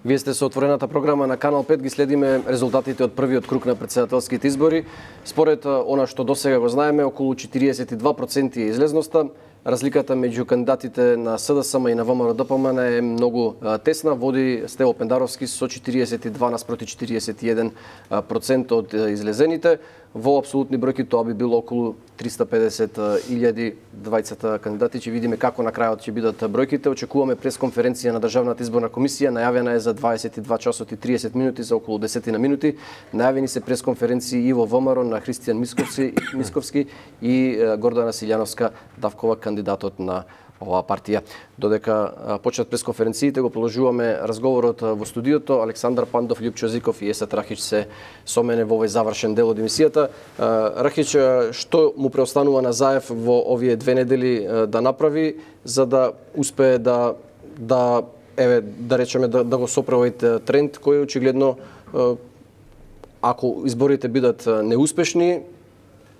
Вие сте со отворената програма на Канал 5, ги следиме резултатите од првиот круг на претседателските избори. Според она што досега го знаеме, околу 42% е излезноста. Разликата меѓу кандидатите на СДСМ и на ВМРО-ДПМН е многу тесна. Води Стево Пендаровски со 42 наспроти 41% од излезените. Во апсолутни бројки тоа би било околу 350.000 двајцата кандидати. Ќе видиме како на крајот ќе бидат бројките. Очекуваме пресконференција на Државната изборна комисија. Најавена е за 22 часот и 30 минути, за околу 10 минути. Најавени се пресконференции и во ВМРО на Христијан Мисковски и Гордана Силјановска Давкова, кандидатот на оваа партија. Додека почнат пресконференциите, го продолжуваме разговорот во студиото. Александар Пандов, Љупчо Зиков и Есет Рахич се со мене во овој завршен дел од емисијата. Рахич, што му преостанува на Заев во овие 2 недели да направи за да успее да речеме да го сопре овој тренд кој очигледно, ако изборите бидат неуспешни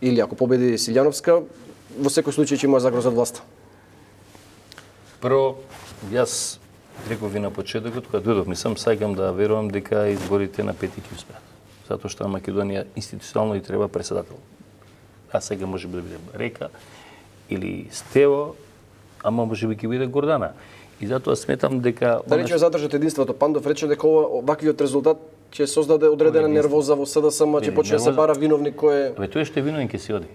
или ако победи Силјановска, во секој случај ќе има загроза од власта? Прво, јас реков ви на почетокот, кога дојдов, мислам, сакам да верувам дека изборите на 5 ќе успеат. Затоа што на Македонија институционално и треба председател. А сега може би да биде Река или Стево, ама може би ќе биде Гордана. И затоа сметам дека... Да речеме задржат единството. Пандов рече дека ваквиот резултат ќе создаде одредена нервоза во СДСМ, ќе почне да се бара виновник кој е... Тој што е виновен ќе си оди.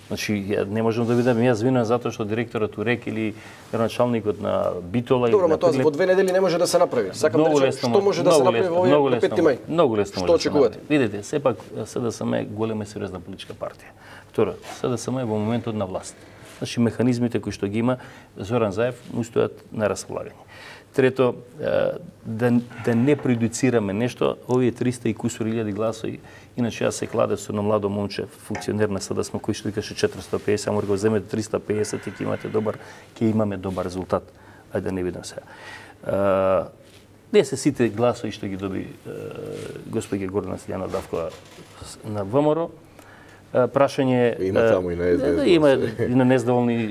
Значи, не можам да видам јас вина затоа што директорот УРЕК или началникот на Битола... Добро, ма тоа во 2 недели не може да се направи. Сакам да речем, што може да се направи во 5 мај? Многу лесно што очекувате? Видите, сепак СДСМ е голема и сериозна политичка партија. Второ, СДСМ е во моментот на власт. Значи, механизмите кои што ги има Зоран Заев устојат на располагање. Трето, да не предуцираме нешто, овие 300 и кусур илјади гласови. Иначе јас се кладев со едно младо момче, функционер на СДСМ, кој што викаше 450, ама го земете 350 и ќе имаме добар резултат. Ајде да не видам сега. Не се сите гласови што ги доби господја Гордана Силјанова Давкова на ВМРО. Прашање има таму и на СДС. Има и на нездоволни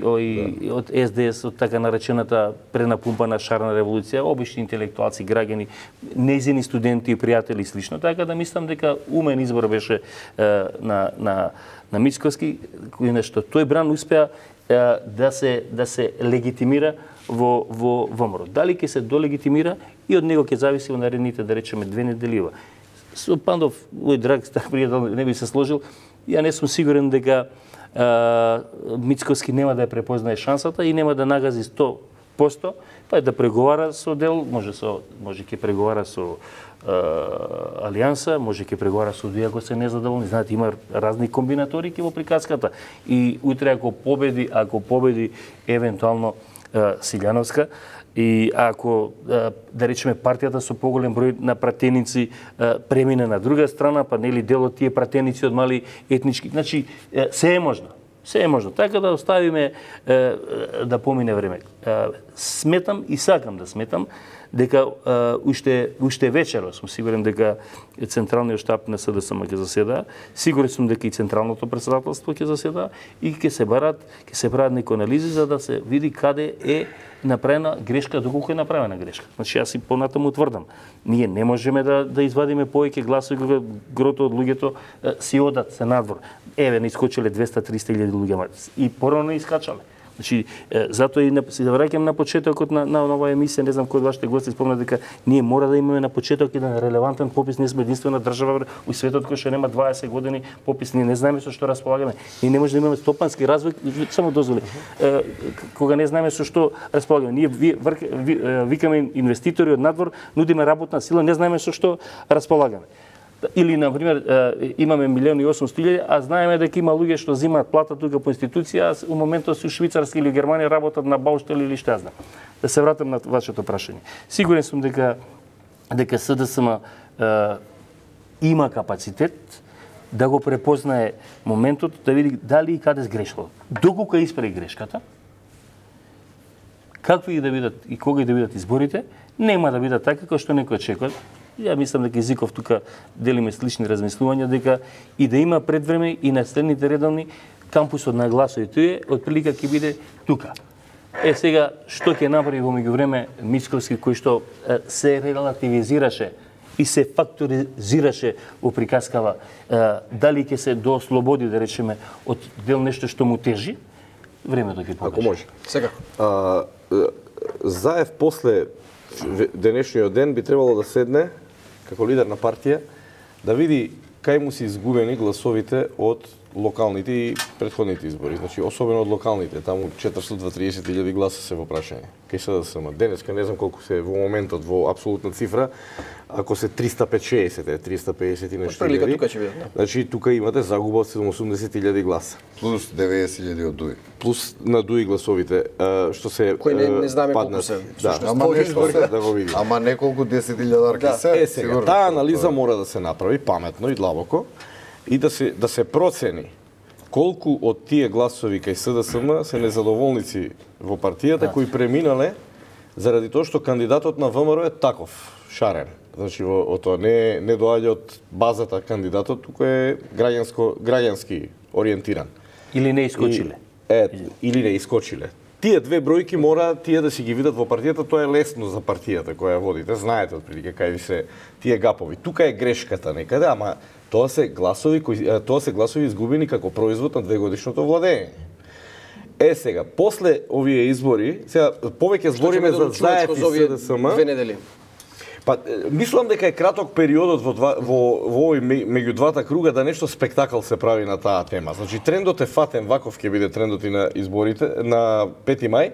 од СДС, од така наречената пренапумпана шарна револуција, обични интелектуалци, граѓани, нејзини студенти и пријатели и слично. Така да мислам дека умен избор беше на Мицковски, нешто тој бран успеа да се легитимира во ВМРО. Дали ќе се долегитимира и од него ќе зависи во наредните, да речеме, 2 недели. Со Пандов, мој драг стар пријател, не би се сложил. Ја не сум сигурен дека Мицковски нема да ја препознае шансата и нема да нагази 100%, па да преговара со дел, може ќе преговара со Алијанса, може ќе преговара со други ако се незадоволни. Знаете, има разни комбинаторики во приказката. И утре ако победи евентуално Силјановска, и ако, да речеме, партијата со поголем број на пратеници премине на друга страна, па нели дел од тие пратеници од мали етнички, значи се е можно. Се е можно. Така да оставиме да помине време. Сметам и сакам да сметам дека уште вечера сум сигурен дека централниот штаб на СДСМ ќе заседа, сигурен сум дека и централното претседателство ќе заседа и ќе се прават некои анализи за да се види каде е направена грешка, доколку е направена грешка. Значи јас и понатаму тврдам, ние не можеме да извадиме повеќе гласови кога грото од луѓето си одат се надвор. Еве не искочиле 200-300 илјади луѓе и порано искачале. Значи, затоа и се враќам на почетокот на оваа емисија, не знам кој од вашите гости спомна дека ние мора да имаме на почеток еден релевантен попис, ние сме единствена држава во светот кој што нема 20 години попис, ние не знаеме со што располагаме. И не може да имаме стопански развој, само дозволи. Кога не знаеме со што располагаме, ние викаме инвеститори од надвор, нудиме работна сила, не знаеме со што располагаме. Или, например, имаме 1.800.000, а знаеме дека има луѓе што земаат плата тука по институција, а у моментот се у Швицарска или Германија работат на Баустел или што знам. Да се вратам на вашето прашање. Сигурен сум дека СДСМ има капацитет да го препознае моментот, да види дали и каде сгрешило. Доколку исправи грешката, какви да бидат и кога и да бидат изборите, нема да бидат така како што некој очекува. Ја мислам дека Зиков тука делиме слични размислувања, дека и да има предвреме и на следните редовни кампусот на гласови, тој од прилика ќе биде тука. Сега, што ќе направи во меѓувреме Мицковски, кој што се релативизираше и се факторизираше во приказкава, дали ќе се доослободи, да речеме, од дел нешто што му тежи, времето ќе покаже. Ако може. Секако. Заев после денешниот ден би требало да седне, како лидер на партија, да види кај му се изгубени гласовите од локалните и претходните избори. Значи, особено од локалните. Таму 430.000 гласа се во прашање. Кај СДСМ. Денеска не знам колку се во моментот во апсолутна цифра, ако се 350 и нешто. Прилика тука ќе биде. Значи, тука имате загуба од 780.000 гласа. Плюс 90.000 од ДУИ. Плюс на ДУИ гласовите, што се кои не знаеме колку се. Да, Ама нешто се, да го видиме. Ама неколку 10.000 се. Сега, таа анализа мора да се направи паметно и длабоко и да се процени колку од тие гласови кај СДСМ се незадоволници во партијата кои преминале заради тоа што кандидатот на ВМРО е таков, шарен. Значи, тоа не доаѓа од базата кандидатот, туку е граѓански ориентиран. Или не искочиле. Или не искочиле. Тие две бројки мора тие да си ги видат во партијата, тоа е лесно за партијата која водите, знаете отприлike кај ви се тие гапови. Тука е грешката некаде, ама тоа се гласови изгубени како производ на двегодишното владење. Сега, после овие избори, сега повеќе збориме за Заев и СДСМ. 2 недели. Па, мислам дека е краток периодот во овој меѓу двата круга да нешто спектакл се прави на таа тема. Значи, трендот е фатен, ваков ќе биде трендот и на изборите, на 5 мај.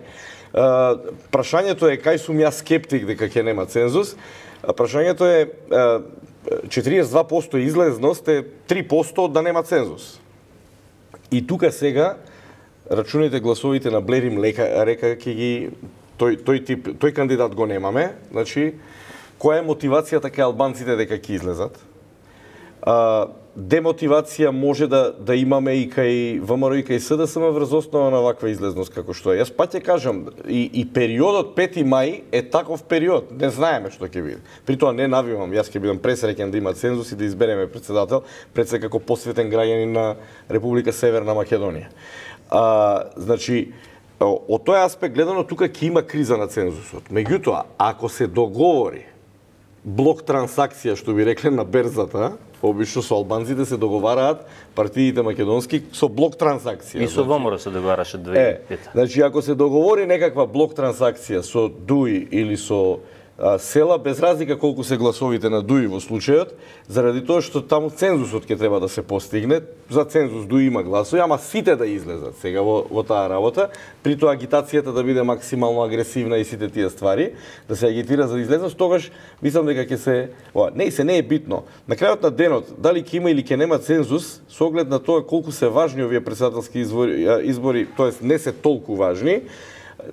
Прашањето е кај сум јас скептик дека ќе нема цензус. Прашањето е 42% излезност е 3% да нема цензус. И тука сега рачуните гласовите на Блерим река ќе ги тој кандидат го немаме, значи која е мотивацијата кај албанците дека ќе излезат? Демотивација може да имаме и кај ВМРО и кај СДСМ врз основа на ваква излезност како што е. Јас пак ќе кажам, и периодот 5 мај е таков период. Не знаеме што ќе биде. При тоа не навивам, јас ќе бидам пресреќен да има цензус и да избереме председател, пред се како посветен граѓанин на Република Северна Македонија. Значи, од тој аспект гледано, тука ќе има криза на цензусот. Меѓутоа, ако се договори блок трансакција, што би рекле на берзата, обично со албанците се договараат партиите македонски со блок трансакција. И со ВМРО се договараше 2005. Значи, ако се договори некаква блок трансакција со ДУИ или со села, без разлика колку се гласовите на ДУИ во случајот, заради тоа што таму цензусот ќе треба да се постигне, за цензус ДУИ има гласови, ама сите да излезат сега во таа работа, при тоа агитацијата да биде максимално агресивна и сите тие ствари, да се агитира за излезност, тогаш мислам дека ќе се не е битно. На крајот на денот, дали ќе има или ќе нема цензус, со оглед на тоа колку се важни овие претседателски избори, тоест не се толку важни,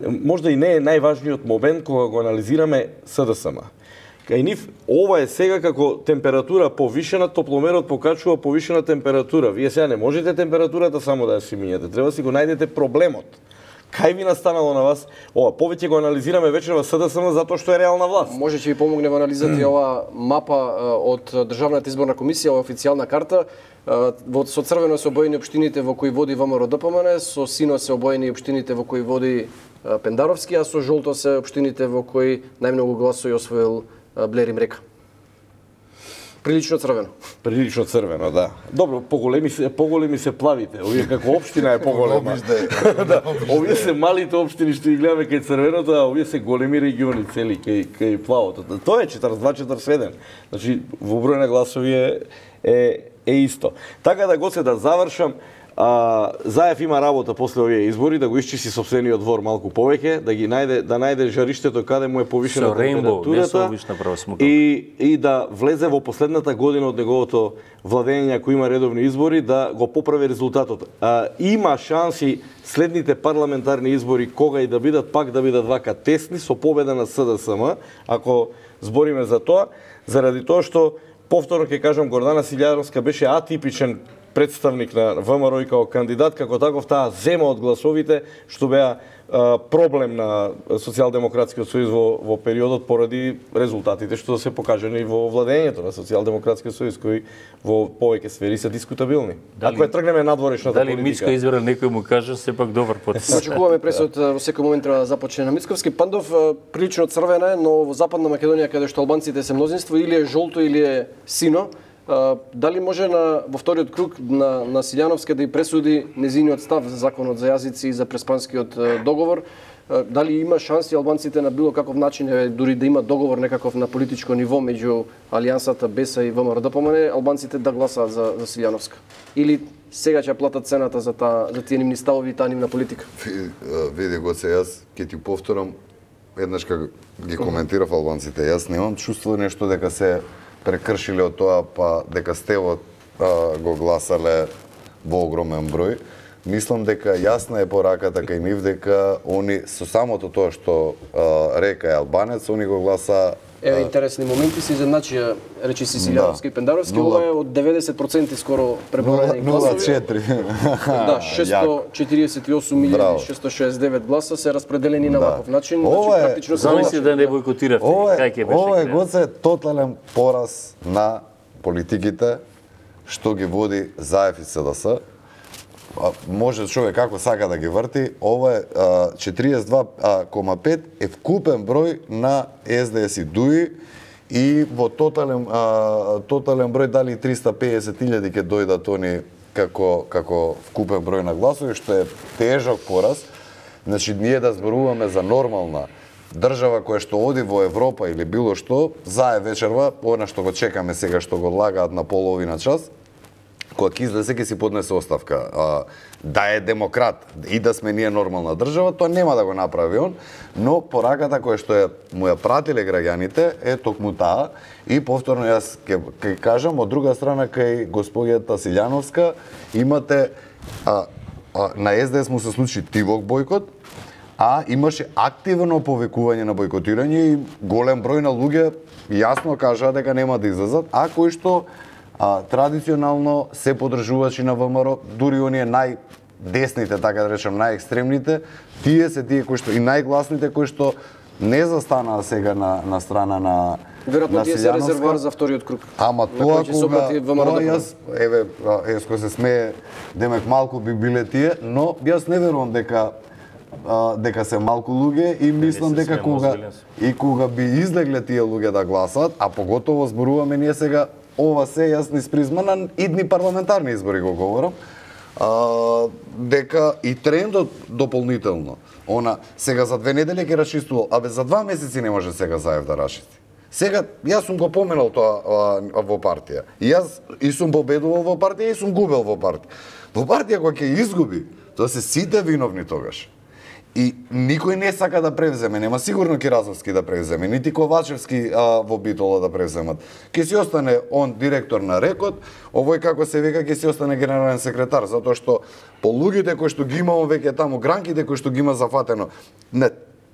можда и не е најважниот момент кога го анализираме СДСМ. Кај нив, ова е сега како температура повишена, топломерот покачува повишена температура. Вие сега не можете температурата само да ја си минјате, треба си го најдете проблемот. Кај ви настанало на вас? Ова, повеќе го анализираме вечер во СДСМ затоа што е реална власт. Може ќе ви помогне во анализата и ова мапа од Државната изборна комисија, ова официјална карта. Со црвено се обоени општините во кои води ВМРО ДПМН, со сино се обоени општините во кои води Пендаровски, а со жолто се општините во кои најмногу гласови освоил Блерим река. Прилично црвено. Прилично црвено, да. Добро, поголеми се плавите. Овие како општина е поголема. Да, овие се малите општини што ги гледаме кај црвеното, а овие се големи региони цели кај плавото. Тоа е 42-41. Значи, во број на гласови е исто. Така да го се да завршам, Заев има работа после овие избори да го исчисти сопствениот двор малку повеќе, да најде жариштето каде му е повишена температурата и да влезе во последната година од неговото владење, ако има редовни избори, да го поправи резултатот. Има шанси следните парламентарни избори кога и да бидат, пак да бидат вака тесни со победа на СДСМ, ако збориме за тоа, заради тоа што повторно ќе кажам, Гордана Силјановска беше атипичен представник на ВМРО и како кандидат, како таков таа зема од гласовите што беа проблем на Социјалдемократскиот сојуз во периодот поради резултатите што се покажани во владењето на Социјалдемократскиот сојуз, кои во повеќе сфери се дискутабилни. Ако ја тргнеме надворешната политика. Дали Мицко избрал некој му каже сепак добар потез. Очекуваме пресот во секој момент треба да започне на Мицковски. Пандов прилично црвена е, но во Западна Македонија каде што албанците се мнозинство, или е жолто или е сино. Дали може во вториот круг на Силјановска да и пресуди незиниот став за законот за јазици и за преспанскиот договор? Дали има шанси албанците на било каков начин, дури да има договор некаков на политичко ниво меѓу Алијансата, БЕСА и ВМРО, да помане албанците да гласаат за Силјановска? Или сега ќе платат цената за тие нивни ставови и таа нивна политика? Види го се, јас ќе ти повторам еднаш кога ги коментирав албанците. Јас немам чувство нешто дека се прекршиле од тоа, па дека стевот го гласале во огромен број. Мислам дека јасна е пораката кај нив дека они со самото тоа што река е албанец, они го гласа. Еве интересни моменти се изедначија речиси Силјановски и Пендаровски, ова е од 90% скоро преброени гласови. 0,4. Да, 648.669 гласа се распределени на ваков начин, значи практично замисли да не бойкотиравте. Кај ќе беше? Ова е гоце тотален пораз на политиките што ги води ЗАЕФ и СДС. Може човек како сака да ги врти, ова е 42,5 е вкупен број на СДС и ДУИ и во тотален број дали 350.000 ќе дојдат они како вкупен број на гласови, што е тежок пораз. Значи ние да зборуваме за нормална држава која што оди во Европа или било што, зае вечерва, она што го чекаме сега што го лагаат на половина час, кога ќе излезе ќе си поднесе оставка. Да е демократ и да сме ние нормална држава, тоа нема да го направи он, но пораката која што му ја пратиле граѓаните е токму таа и повторно јас ќе кажам, од друга страна кај господјата Силјановска имате на СДС му се случи тивок бојкот, а имаше активно повикување на бојкотирање и голем број на луѓе јасно кажаа дека нема да излезат, а кои што традиционално се поддржувачи на ВМРО, дури оние најдесните, така да речем, најекстремните, тие се тие кои што и најгласните кои што не застанаа сега на страна на веројатно тие се резервоар за вториот круг. Ама тоа кога јас еве еско се смее, демек малку би биле тие, но јас не верувам дека се малку луѓе и мислам дека кога би излегле тие луѓе да гласат, а поготово зборуваме ние сега ова се јас низ призма на идни парламентарни избори го говорам, дека и трендот дополнително, сега за 2 недели ќе расчистувал, за 2 месеци не може сега ЗАЕФ да расчисти. Сега, јас сум го поменал тоа во партија. Јас и сум победувал во партија и сум губел во партија. Во партија кога ќе изгуби, тоа се сите виновни тогаш. И никој не сака да превземе, нема сигурно Киразовски да превземе, нити Ковачевски во Битола да превземат. Ке си остане он директор на РЕКОД, овој како се века ке си остане генерален секретар, затоа што по луѓите кои што ги има он веќе таму, гранките кои што ги има зафатено,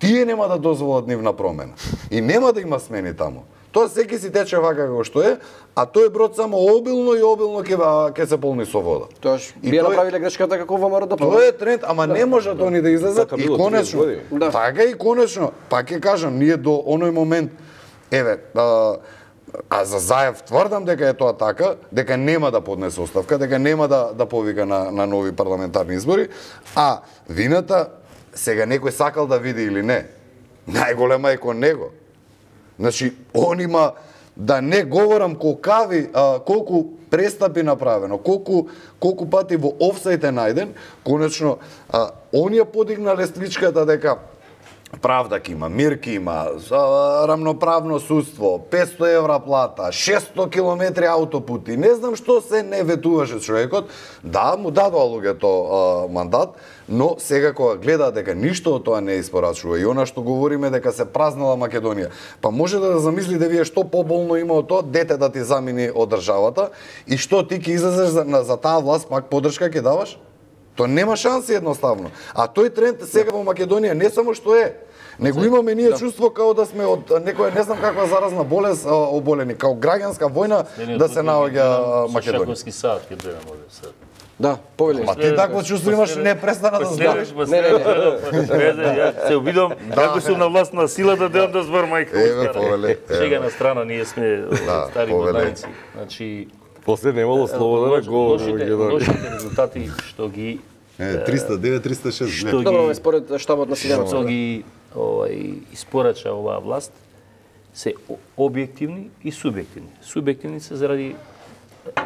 тие нема да дозволат нивна промена. И нема да има смени таму. Тоа секи си тече вака како што е, а тој брод само обилно ќе се полни со вода. Тоаш би направиле грешката како ВМРО да тоа е тренд, ама не можат они да излезат и конечно. Така и конечно, пак ќе кажам, ние до оној момент еве за ЗАЕФ тврдам дека е тоа така, дека нема да поднесе оставка, дека нема да повика на нови парламентарни избори, а вината сега некој сакал да види или не, најголема е кон него. Значи, он има, да не говорам колку престапи направено, колку пати во офсајд е најден, конечно, он ја подигна лествичката дека правда ки има, мир ки има, рамноправно судство, 500 евра плата, 600 километри аутопути, не знам што се не ветуваше човекот, да, му дадоа луѓето мандат, но сега кога гледа дека ништо од тоа не испорачува и она што говориме дека се празнала Македонија, па може да замислите вие што поболно има од тоа дете да ти замини од државата и што ти ќе излезеш за таа власт пак поддршка ќе даваш? Тоа нема шанси едноставно. А тој тренд сега во Македонија не само што е, него имаме ние чувство као да сме од некоја не знам каква заразна болест оболени, као граѓанска војна да се наоѓа Македонија. Шаковски сад ќе гледам овде сад. Да, повеле. Ма ти такво чувство имаш, не престана да збориш. Не. Се обидам, како сум на власт на силата да збор мајка. Еве, повеле. Сега на страна, ние сме стари годнаници. Значи, после немало слобода на говори. Лошите резултати што ги 309-306. Добро, според штабот на Силјановска. што ги испорача оваа власт се објективни и субјективни. Субјективни се заради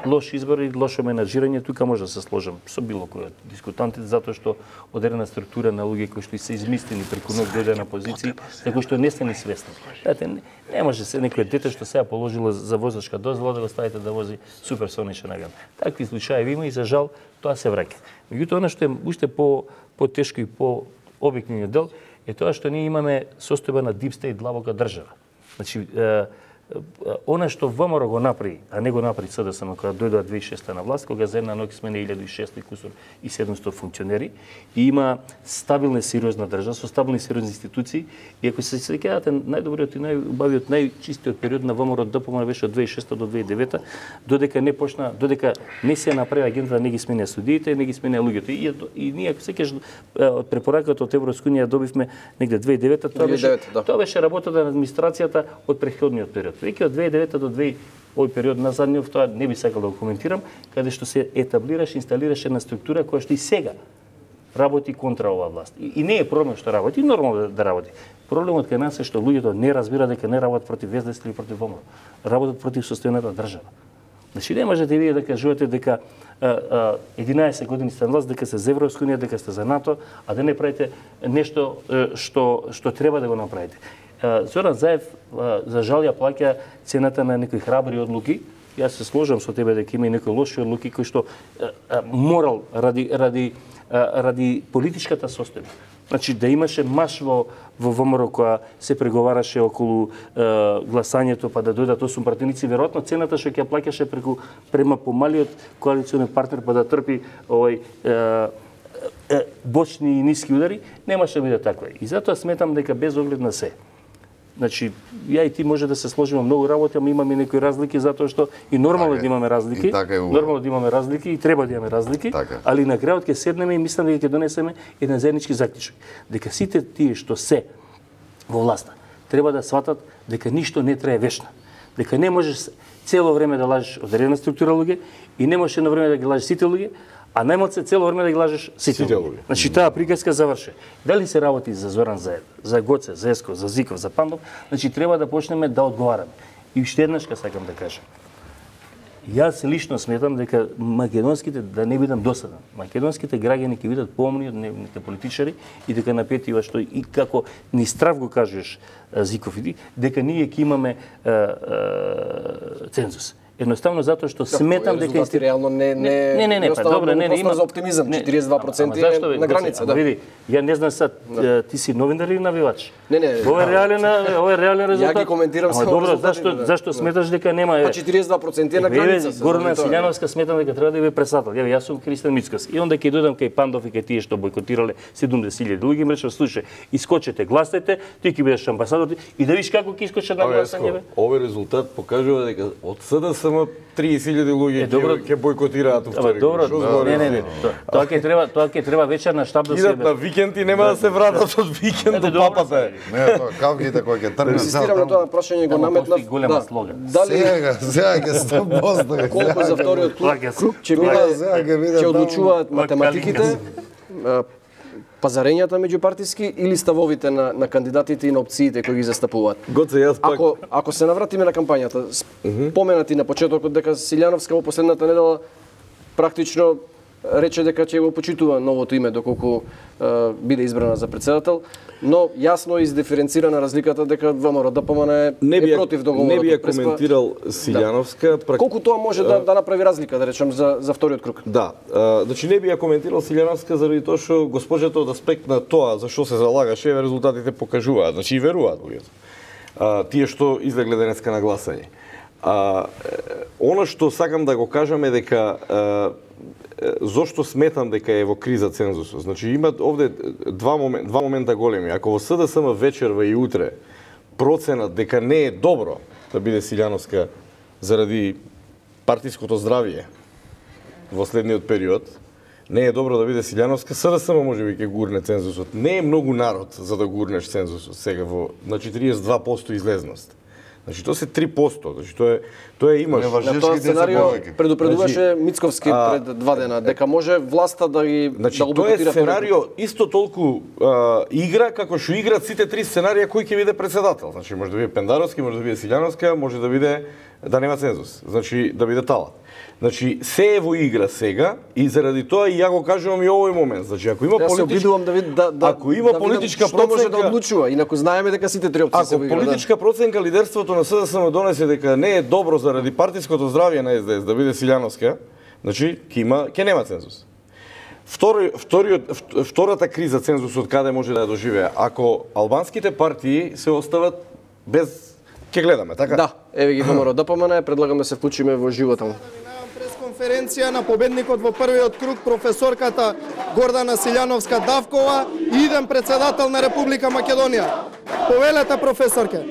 лоши избори, лошо менаџирање, тука може да се сложам со било кој од дискутантите, затоа што одредена структура на луѓе кои што се измислени преку ног дојде на позиции, за кои што не сте ни свесни. Знаете, не може се некој дете што сега положило за возачка дозвола да го ставите да вози суперсоничен агент. Такви случаи има и за жал тоа се враќа. Меѓутоа, она што е уште по-тешко и по-објективниот дел е тоа што ние имаме состојба на deep state длабока држава. Значи, она што ВМРО го направи, а не го направи СДСМ кога дојдоа 2006 на власт, кога за една ноќ смени 1600 кусур и 700 функционери и има стабилна сериозна држава со стабилни сериозни институции и ако се сеќавате најдобриот и најубавиот најчистиот период на ВМРО ДПМН беше од 2006 до 2009 додека не се направи агента, не ги сменија судиите, не ги сменија луѓето и ние ако сеќаш од препораката од Европска унија добивме негде 2009 тоа беше работата на администрацијата од претходниот период. Веќе од 2009 до 2000 овој период назадниот, тоа не би сакал да го коментирам, каде што се етаблираше, инсталираше една структура која што и сега работи контра оваа власт. И не е проблем што работи, нормално да работи. Проблемот кај нас е што луѓето не разбира дека не работат против СДС или против ВМРО. Работат против состојаната држава. Значи не можете вие да кажувате дека 11 години сте на власт, дека се за Европска унија, дека сте за НАТО, а да не правите нешто што треба да го направите. Зоран Заев, за жал, ја плаќа цената на некои храбри одлуки. Јас се сложам со тебе дека има и некои лоши одлуки кои што морал ради политичката состојба. Значи да имаше маш во ВМРО која се преговараше околу гласањето па да дојдат 8 пратеници, веројатно цената што ќе плаќаше према помалиот коалиционен партнер па да трпи бочни и ниски удари, немаше да биде таква. И затоа сметам дека без оглед на се. Значи, ја и ти може да се сложиме многу работи, ама имаме некои разлики затоа што и нормално да имаме разлики. Нормално да имаме разлики и треба да имаме разлики, али на крајот ќе седнеме и мислам дека ќе донесеме еден заеднички заклучок. Дека сите тие што се во власта треба да сватат дека ништо не трае вечно. Дека не можеш цело време да лажеш одредена структура луѓе и не можеш едно време да ги лажеш сите луѓе, а најмалце цело време да ги лажеш сите луѓе. Значи таа приказка заврши. Дали се работи за Зоран Заев, за Гоце, за Еско, за Зиков, за Пандов, значи треба да почнеме да одговараме. И уште еднаш сакам да кажам. Јас лично сметам дека македонските, да не бидам досаден, македонските граѓани ќе бидат поумни од нивните политичари и дека на петива што и како ни страв го кажеш Зиков и дека ние ќе имаме цензус. Едноставно затоа што сметам дека реално не па добро, има за оптимизам, 42% на граница, да. Види, ја не знам сад, ти си новинар или навивач? Не. Ова е реален резултат. Ја ги коментирам само добро, зашто сметаш дека нема? Па 42% е на граница. Горна Силјановска сметам дека треба да биде председател. Јас сум Христијан Мицкос. И онда ќе дојдам кај Пандов и кај тие што бойкотирале 70.000 луѓе, им речам, слушај, искочете, гласајте, ти ќе бидеш амбасадор и да видиш како ќе искочат на гласање. Овој резултат покажува дека од СДСМ 30.000 луѓе ќе бойкотираат втори. Добро, не. Тоа ќе треба вечерна штаб да се идат на викенд и нема да се вратат од викенд до папата. Не, тоа кавгите кои ќе тргнат. Инсистирам на тоа прашање го наметнав. Голема слога. Дали сега ќе се постави. Колку за вториот круг ќе одлучуваат математиките, пазарењата меѓупартиски или ставовите на кандидатите и на опциите кои ги застапуваат. Ако се навратиме на кампањата, споменати на почетокот дека Силјановска во последната недела практично рече дека ќе го почитува новото име доколку биде избрана за председател, но јасно издиференцирана разликата дека ВМРО ДПМН е против договорот. Не би ја коментирал Силјановска. Колку тоа може да направи разлика, да речем, за вториот круг? Да, значи не би ја коментирал Силјановска заради тоа што госпожата од аспект на тоа за што се залагаше, резултатите покажуваат, значи и веруваат луѓето. Тие што излегле денеска на гласање. Она што сакам да го кажам е дека зошто сметам дека е во криза цензусот? Значи има овде два момента големи. Ако во СДСМ вечерва и утре проценат дека не е добро да биде Силјановска заради партиското здравје во следниот период, не е добро да биде Силјановска, СДСМ можеби ќе гурне цензусот. Не е многу народ за да гурнеш цензусот сега во на 42% излезност. Значи тоа се 3%, значи тоа имаш. На тоа сценарио предупредуваше Мицковски пред 2 дена дека може власта да ги значи, да го бойкотира. Тоа е сценарио исто толку игра како што играат сите 3 сценарија кој ќе биде председател. Значи може да биде Пендаровски, може да биде Силјановска, може да биде да нема цензус. Значи да биде Талат. Значи се е во игра сега и заради тоа и ја го кажувам и овој момент. Значи ако има ако има политичка проценка, што може да одлучува, инаку знаеме дека сите три опции се во игра. Ако политичка проценка лидерството на СДСМ донесе дека не е добро заради партиското здравје на СДС да биде Силјановска, значи ќе нема цензус. Втората криза цензусот каде може да ја доживее? Ако албанските партии се остават без ќе гледаме, така? Да, еве ги ВМРО ДПМН, предлагам да се вклучиме во живота му. Конференција на победникот во првиот круг, професорката Гордана Силјановска-Давкова, иден председател на Република Македонија. Повелете, професорке.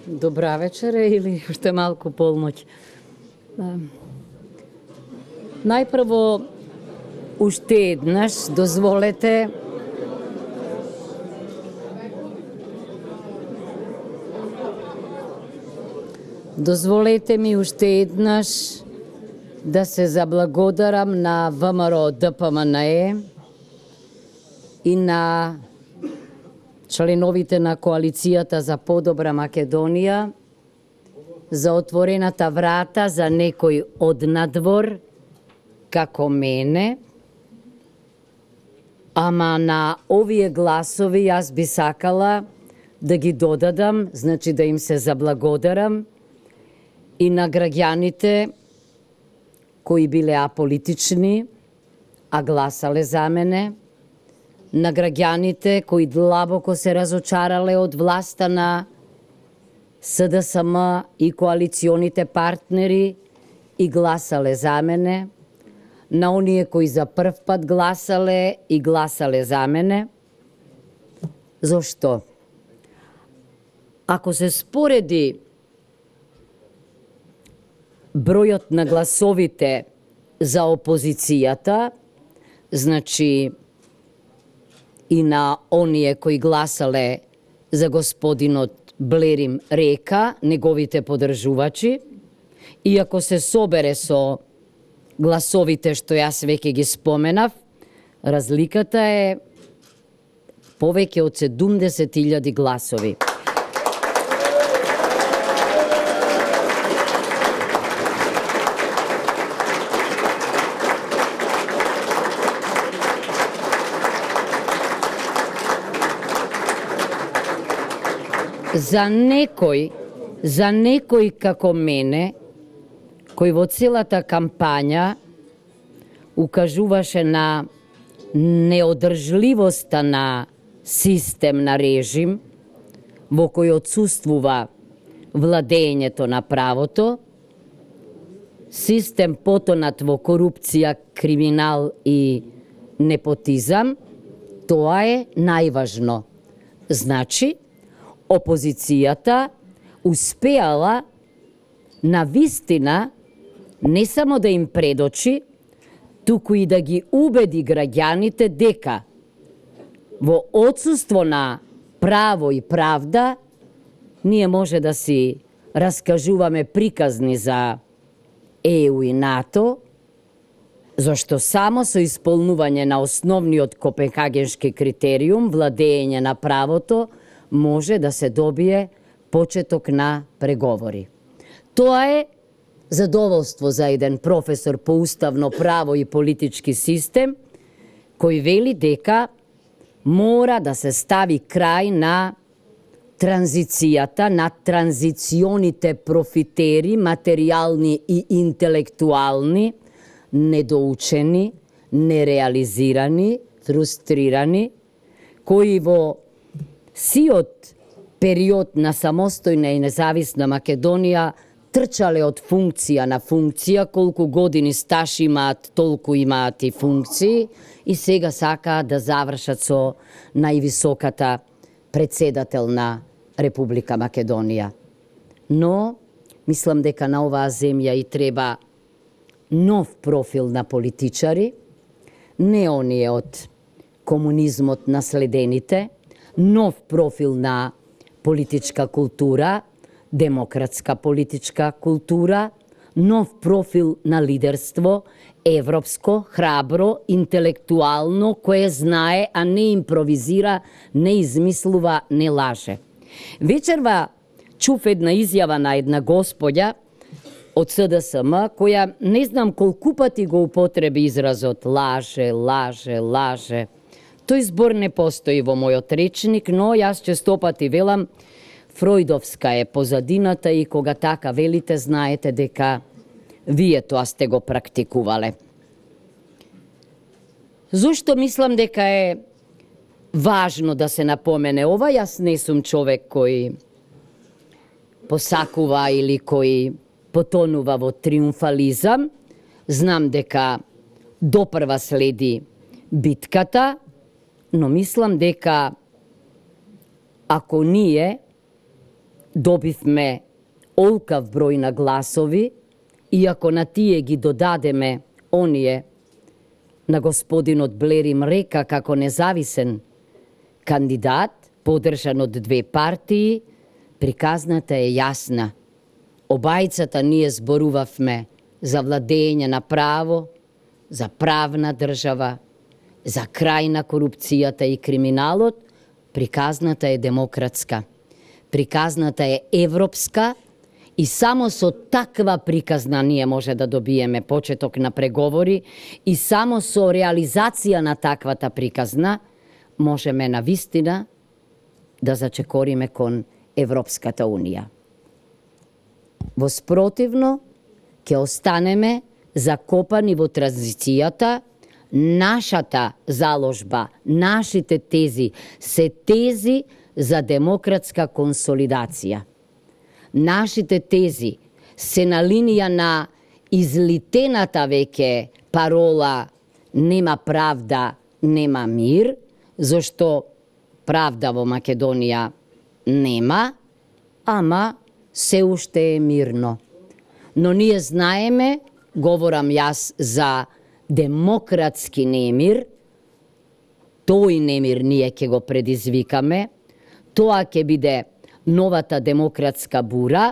Добра вечера или уште малку полноќ. Најпрво, уште еднаш, дозволете ми уште еднаш да се заблагодарам на ВМРО ДПМНЕ и на членовите на Коалицијата за подобра Македонија за отворената врата за некој од надвор како мене, ама на овие гласови јас би сакала да ги додадам, значи да им се заблагодарам и на граѓаните кои биле аполитични, а гласале за мене, на граѓаните кои длабоко се разочарале од власта на СДСМ и коалиционите партнери и гласале за мене, на оние кои за прв пат гласале и гласале за мене. Зошто? Ако се спореди бројот на гласовите за опозицијата, значи и на оние кои гласале за господинот Блерим Река, неговите подржувачи, и ако се собере со гласовите што јас веќе ги споменав, разликата е повеќе од 70.000 гласови. За некој како мене, кој во целата кампања укажуваше на неодржливоста на систем на режим, во кој отсуствува владењето на правото, систем потонат во корупција, криминал и непотизам, тоа е најважно. Значи, опозицијата успеала на вистина не само да им предочи, туку и да ги убеди граѓаните дека во отсуство на право и правда ние може да си раскажуваме приказни за ЕУ и НАТО, зашто само со исполнување на основниот Копенхагенски критериум, владење на правото, може да се добие почеток на преговори. Тоа е задоволство за еден професор по уставно право и политички систем, кој вели дека мора да се стави крај на транзицијата, на транзиционите профитери, материјални и интелектуални, недоучени, нереализирани, фрустрирани, кои во сиот период на самостојна и независна Македонија трчале од функција на функција, колку години стаж имаат, толку имаат и функции, и сега сакаат да завршат со највисоката председател на Република Македонија. Но, мислам дека на оваа земја и треба нов профил на политичари, не оние од комунизмот наследените, нов профил на политичка култура, демократска политичка култура, нов профил на лидерство, европско, храбро, интелектуално, кое знае, а не импровизира, не измислува, не лаже. Вечерва чув една изјава на една господја од СДСМ, која не знам колку пати го употреби изразот лаже, лаже, лаже. Тој збор не постои во мојот речник, но јас честопати велам фројдовска е позадината и кога така велите, знаете дека вие тоа сте го практикувале. Зошто мислам дека е важно да се напомене ова? Јас не сум човек кој посакува или кој потонува во триумфализам. Знам дека допрва следи битката, но мислам дека ако ние добивме олкав број на гласови и ако на тие ги додадеме оние на господинот Блер им река како независен кандидат, поддржан од две партии, приказната е јасна. Обајцата ние зборувавме за владење на право, за правна држава, за крај на корупцијата и криминалот, приказната е демократска. Приказната е европска и само со таква приказна ние може да добиеме почеток на преговори и само со реализација на таквата приказна можеме на вистина да зачекориме кон Европската Унија. Во спротивно, ќе останеме закопани во транзицијата. Нашата заложба, нашите тези се тези за демократска консолидација. Нашите тези се на линија на излитената веќе парола нема правда, нема мир, зашто правда во Македонија нема, ама се уште е мирно. Но ние знаеме, говорам јас за демократски немир, тој немир ние ќе го предизвикаме, тоа ќе биде новата демократска бура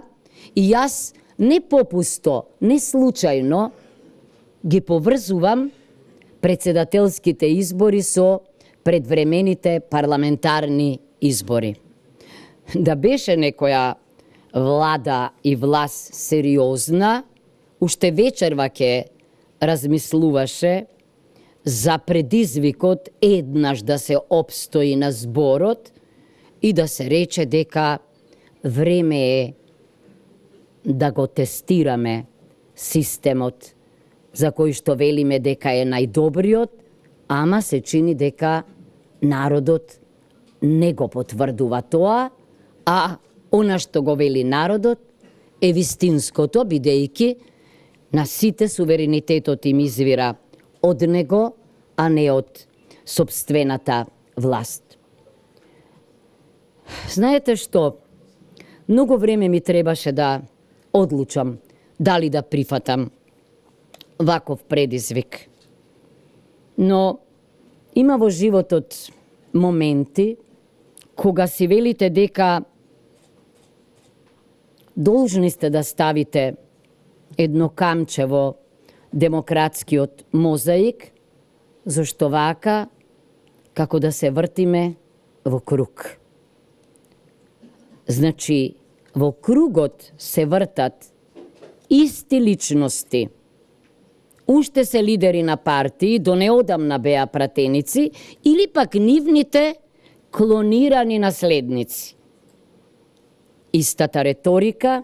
и јас не попусто, не случајно ги поврзувам председателските избори со предвремените парламентарни избори. Да беше некоја влада и власт сериозна, уште вечерва ќе размислуваше за предизвикот еднаш да се опстои на зборот и да се рече дека време е да го тестираме системот за кој што велиме дека е најдобриот, ама се чини дека народот не го потврдува тоа, а она што го вели народот е вистинското, бидејќи на сите суверенитетот им извира од него, а не од собствената власт. Знаете што? Многу време ми требаше да одлучам дали да прифатам ваков предизвик. Но има во животот моменти кога си велите дека должни сте да ставите едно камче во демократскиот мозаик, зашто вака како да се вртиме во круг. Значи, во кругот се вртат исти личности. Уште се лидери на партии, до неодамна беа пратеници, или пак нивните клонирани наследници. Истата реторика,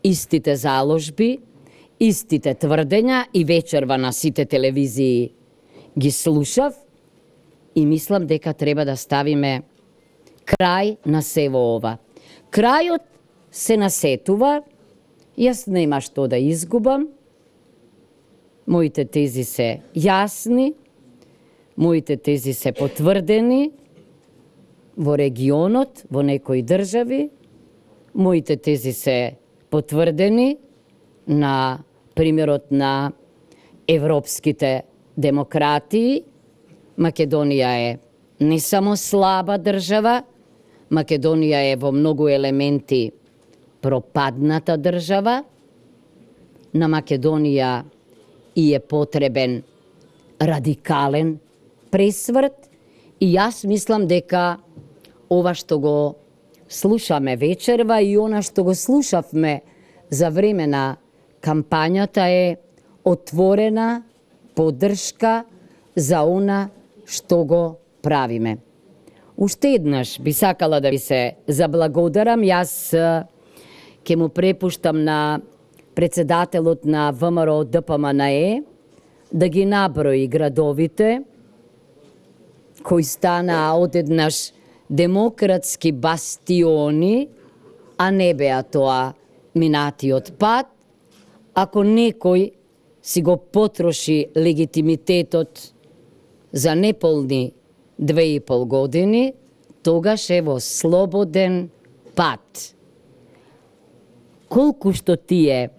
истите заложби, истите тврдења и вечерва на сите телевизии ги слушав и мислам дека треба да ставиме крај на сево ова. Крајот се насетува, јас нема што да изгубам, моите тези се јасни, моите тези се потврдени во регионот, во некои држави, моите тези се потврдени на примерот на европските демократии. Македонија е не само слаба држава, Македонија е во многу елементи пропадната држава. На Македонија и е потребен радикален пресврт и јас мислам дека ова што го слушаме вечерва и она што го слушавме за време на кампањата е отворена поддршка за она што го правиме. Уште еднаш би сакала да ви се заблагодарам. Јас ќе му препуштам на председателот на ВМРО ДПМНЕ да ги наброи градовите кои станаа одеднаш демократски бастиони, а не беа тоа минатиот пат. Ако некој си го потроши легитимитетот за неполни 2,5 години, тогаш е во слободен пат. Колку што тие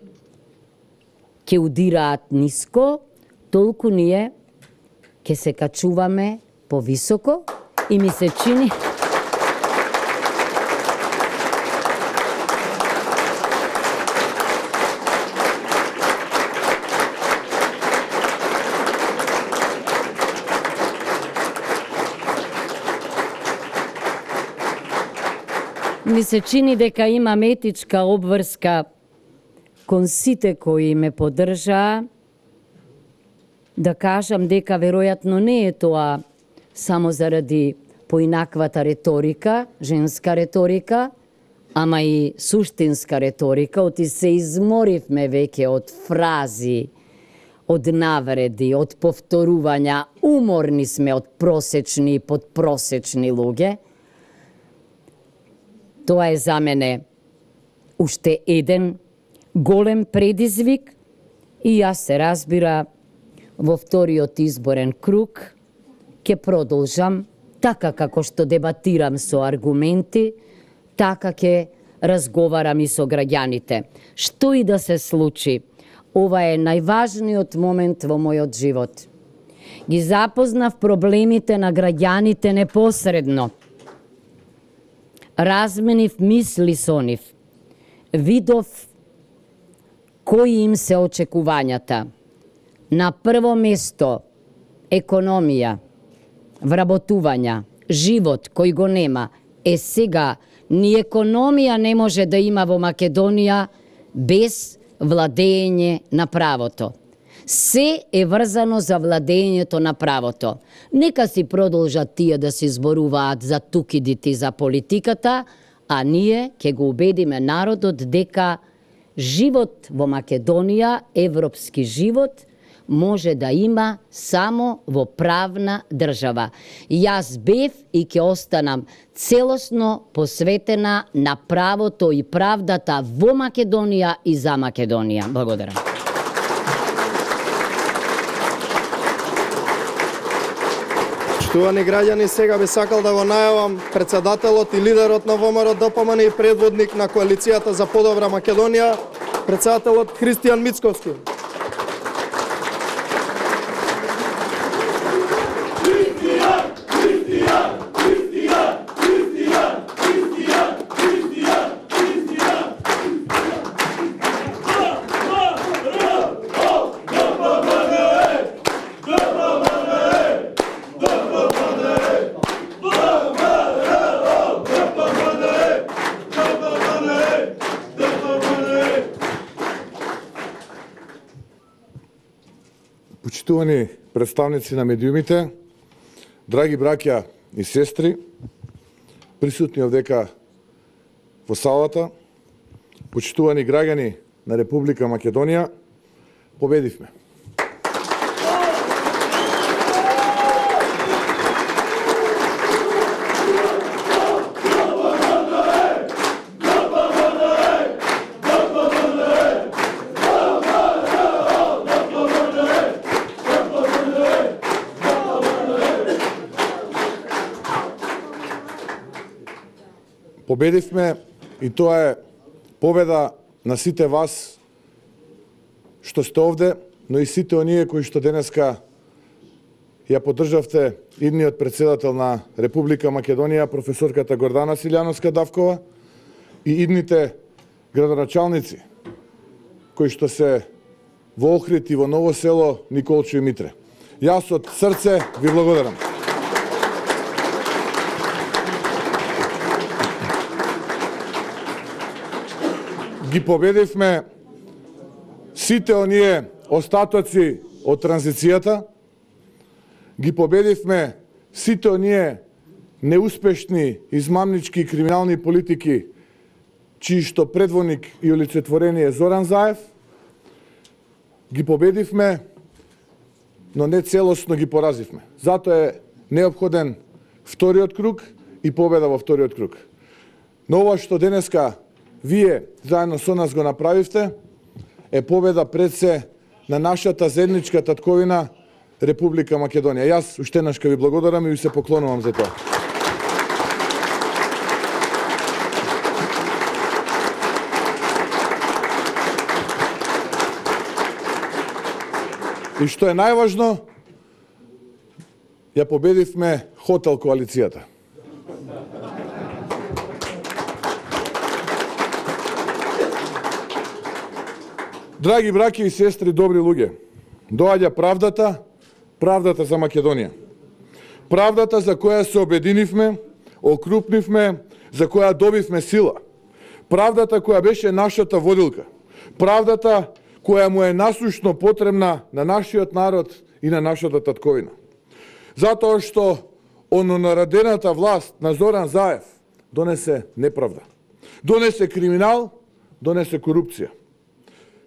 ќе удираат ниско, толку ние ќе се качуваме повисоко и ми се чини дека имам етичка обврска кон сите кои ме поддржаа, да кажам дека веројатно не е тоа само заради поинаквата реторика, женска реторика, ама и суштинска реторика, оти се изморивме веќе од фрази, од навреди, од повторувања, уморни сме од просечни и подпросечни луѓе. Тоа е за мене уште еден голем предизвик и јас се разбира во вториот изборен круг ќе продолжам така како што дебатирам со аргументи, така ќе разговарам и со граѓаните. Што и да се случи, ова е најважниот момент во мојот живот. Ги запознав проблемите на граѓаните непосредно. Разменив мисли со нив. Видов кои им се очекувањата. На прво место економија, вработувања, живот кој го нема. Сега ни економија не може да има во Македонија без владење на правото. Се е врзано за владењето на правото. Нека си продолжат тие да се зборуваат за тукидите за политиката, а ние ќе го убедиме народот дека живот во Македонија, европски живот, може да има само во правна држава. Јас бев и ќе останам целосно посветена на правото и правдата во Македонија и за Македонија. Благодарам. Почитувани граѓани, сега би сакал да го најавам председателот и лидерот на ВМРО ДПМН и предводник на коалицијата за подобра Македонија, председателот Христијан Мицковски. Почитувани представници на медиумите, драги браќа и сестри, присутни овдека во салата, почитувани граѓани на Република Македонија, победивме. Победивме и тоа е победа на сите вас што сте овде, но и сите оние кои што денеска ја поддржавте идниот председател на Република Македонија, професорката Гордана Силјановска-Давкова, и идните градоначалници кои што се во Охрид и во Ново село, Николчо и Митре. Јас од срце ви благодарам. Ги победивме сите оние остатоци од транзицијата, ги победивме сите оние неуспешни, измамнички и криминални политики, чии што предводник и олицетворение е Зоран Заев, ги победивме, но не целосно ги поразивме. Затоа е неопходен вториот круг и победа во вториот круг. Но ова што денеска вие заедно со нас го направивте е победа пред се на нашата заедничка татковина Република Македонија. Јас уште еднаш ви благодарам и ви се поклонувам за тоа. И што е најважно, ја победивме хотел коалицијата. Драги браќи и сестри, добри луѓе, доаѓа правдата, правдата за Македонија. Правдата за која се обединивме, окрупнивме, за која добивме сила. Правдата која беше нашата водилка. Правдата која му е насушно потребна на нашиот народ и на нашата татковина. Затоа што ононаредената власт на Зоран Заев донесе неправда. Донесе криминал, донесе корупција.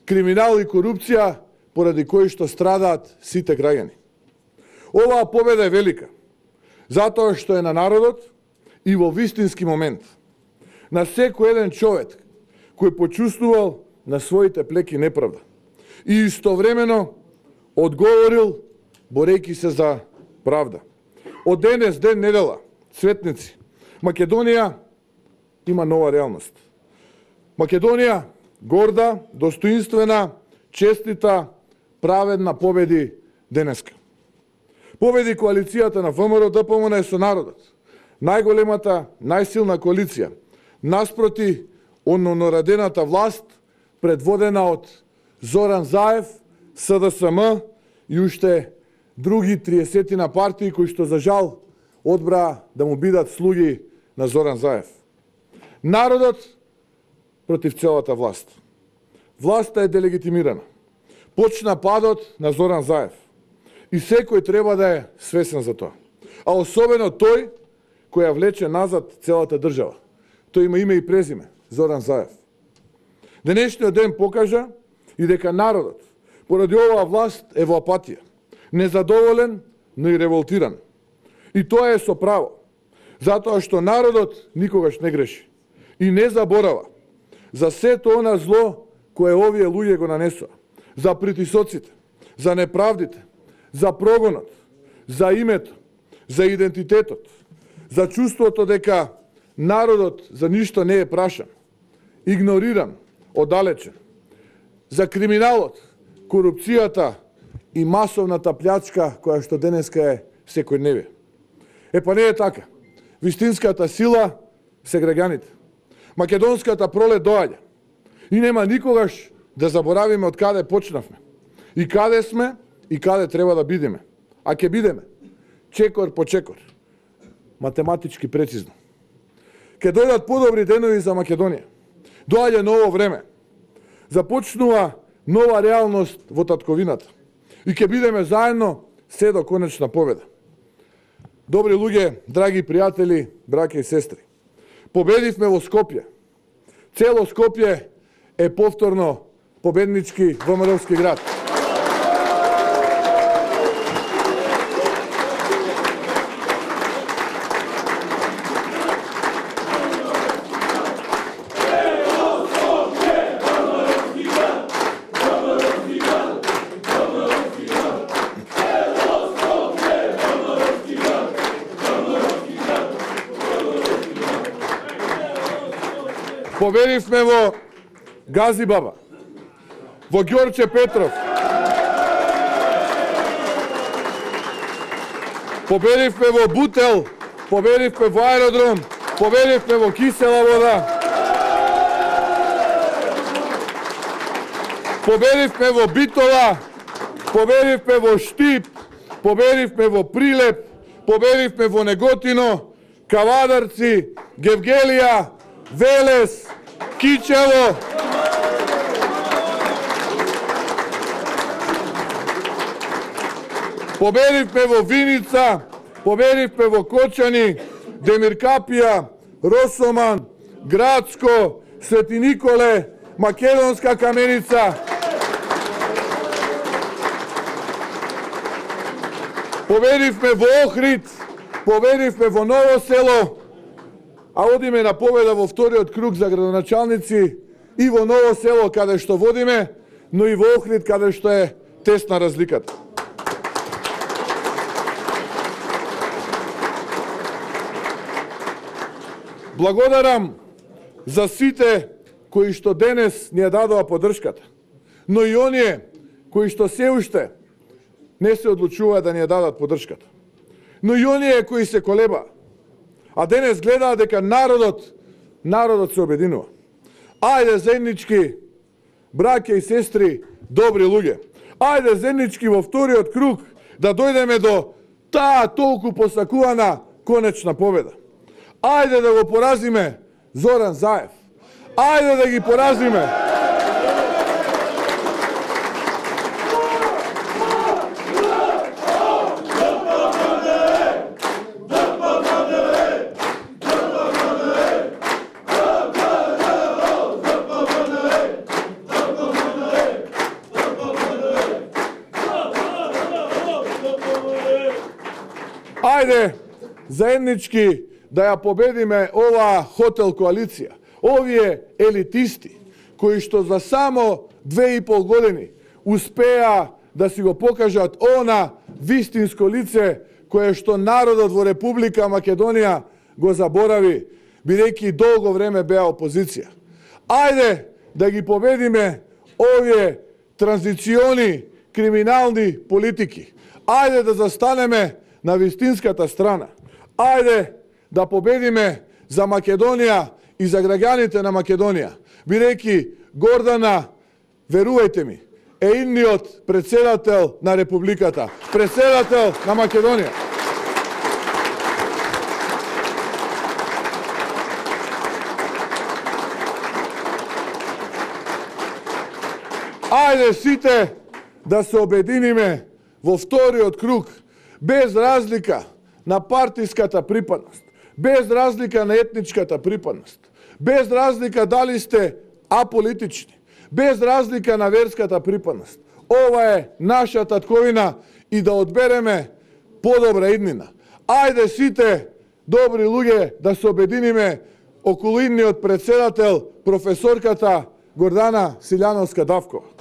Криминал и корупција поради кои што страдаат сите граѓани. Оваа победа е велика, затоа што е на народот и во вистински момент. На секој еден човек кој почувствувал на своите плеки неправда и истовремено одговорил борејќи се за правда. Од денес, ден недела, светници, Македонија има нова реалност. Македонија горда, достоинствена, честита, праведна победи денеска. Победи коалицијата на ВМРО ДПМН со народот. Најголемата, најсилна коалиција, наспроти ононаредената власт, предводена од Зоран Заев, СДСМ и уште други 30 партии кои што за жал одбраа да му бидат слуги на Зоран Заев. Народот против целата власт. Власта е делегитимирана. Почна падот на Зоран Заев. И секој треба да е свесен за тоа. А особено тој кој ја влече назад целата држава. Тој има име и презиме, Зоран Заев. Денешниот ден покажа и дека народот поради оваа власт е во апатија, незадоволен, но и револтиран. И тоа е со право, затоа што народот никогаш не греши и не заборава за сето она зло кое овие луѓе го нанесоа, за притисоците, за неправдите, за прогонот, за името, за идентитетот, за чувството дека народот за ништо не е прашан, игнориран, оддалечен, за криминалот, корупцијата и масовната плячка која што денеска е секојдневие. Па не е така. Вистинската сила се граѓаните. Македонската пролет доаѓа. И нема никогаш да заборавиме од каде почнавме. И каде сме, и каде треба да бидеме. А ќе бидеме. Чекор по чекор. Математички прецизно. Ке дојдат подобри денови за Македонија. Доаѓа ново време. Започнува нова реалност во татковината. И ќе бидеме заедно се до конечна победа. Добри луѓе, драги пријатели, браќа и сестри. Победивме во Скопје. Цело Скопје е повторно победнички ВМРО-ски град. Победивме во Газибаба, во Ѓорче Петров, победивме во Бутел, победивме во Аеродром, победивме во Кисела вода, победивме во Битола, победивме во Штип, победивме во Прилеп, победивме во Неготино, Кавадарци, Гевгелија, Велес, Кичево, победивме во Виница, победивме во Кочани, Демиркапија, Росоман, Градско, Свети Николе, Македонска Каменица, победивме во Охрид, победивме во Ново село, а одиме на победа во вториот круг за градоначалници и во Ново село каде што водиме, но и во Охрид каде што е тесна разликата. Благодарам за сите кои што денес ни ја дадоа поддршката, но и оние кои што се уште не се одлучуваат да ни ја дадат поддршката, но и оние кои се колебаат. А денес гледаат дека народот се обединува. Ајде заеднички, браќа и сестри, добри луѓе. Ајде заеднички во вториот круг да дојдеме до таа толку посакувана конечна победа. Ајде да го поразиме Зоран Заев. Ајде да ги поразиме Ајде заеднички да ја победиме оваа хотел коалиција, овие елитисти, кои што за само 2,5 години успеа да си го покажат она вистинско лице кое што народот во Република Македонија го заборави, бидејќи долго време беа опозиција. Ајде да ги победиме овие транзициони криминални политики. Ајде да застанеме на вистинската страна. Ајде да победиме за Македонија и за граѓаните на Македонија, бидејќи Гордана, верувајте ми, е идниот председател на Републиката, председател на Македонија. Ајде сите да се обединиме во вториот круг, без разлика на партиската припадност, без разлика на етничката припадност, без разлика дали сте аполитични, без разлика на верската припадност. Ова е наша татковина и да одбереме подобра иднина. Ајде сите добри луѓе да се обединиме околу идниот председател, професорката Гордана Силјановска-Давкова.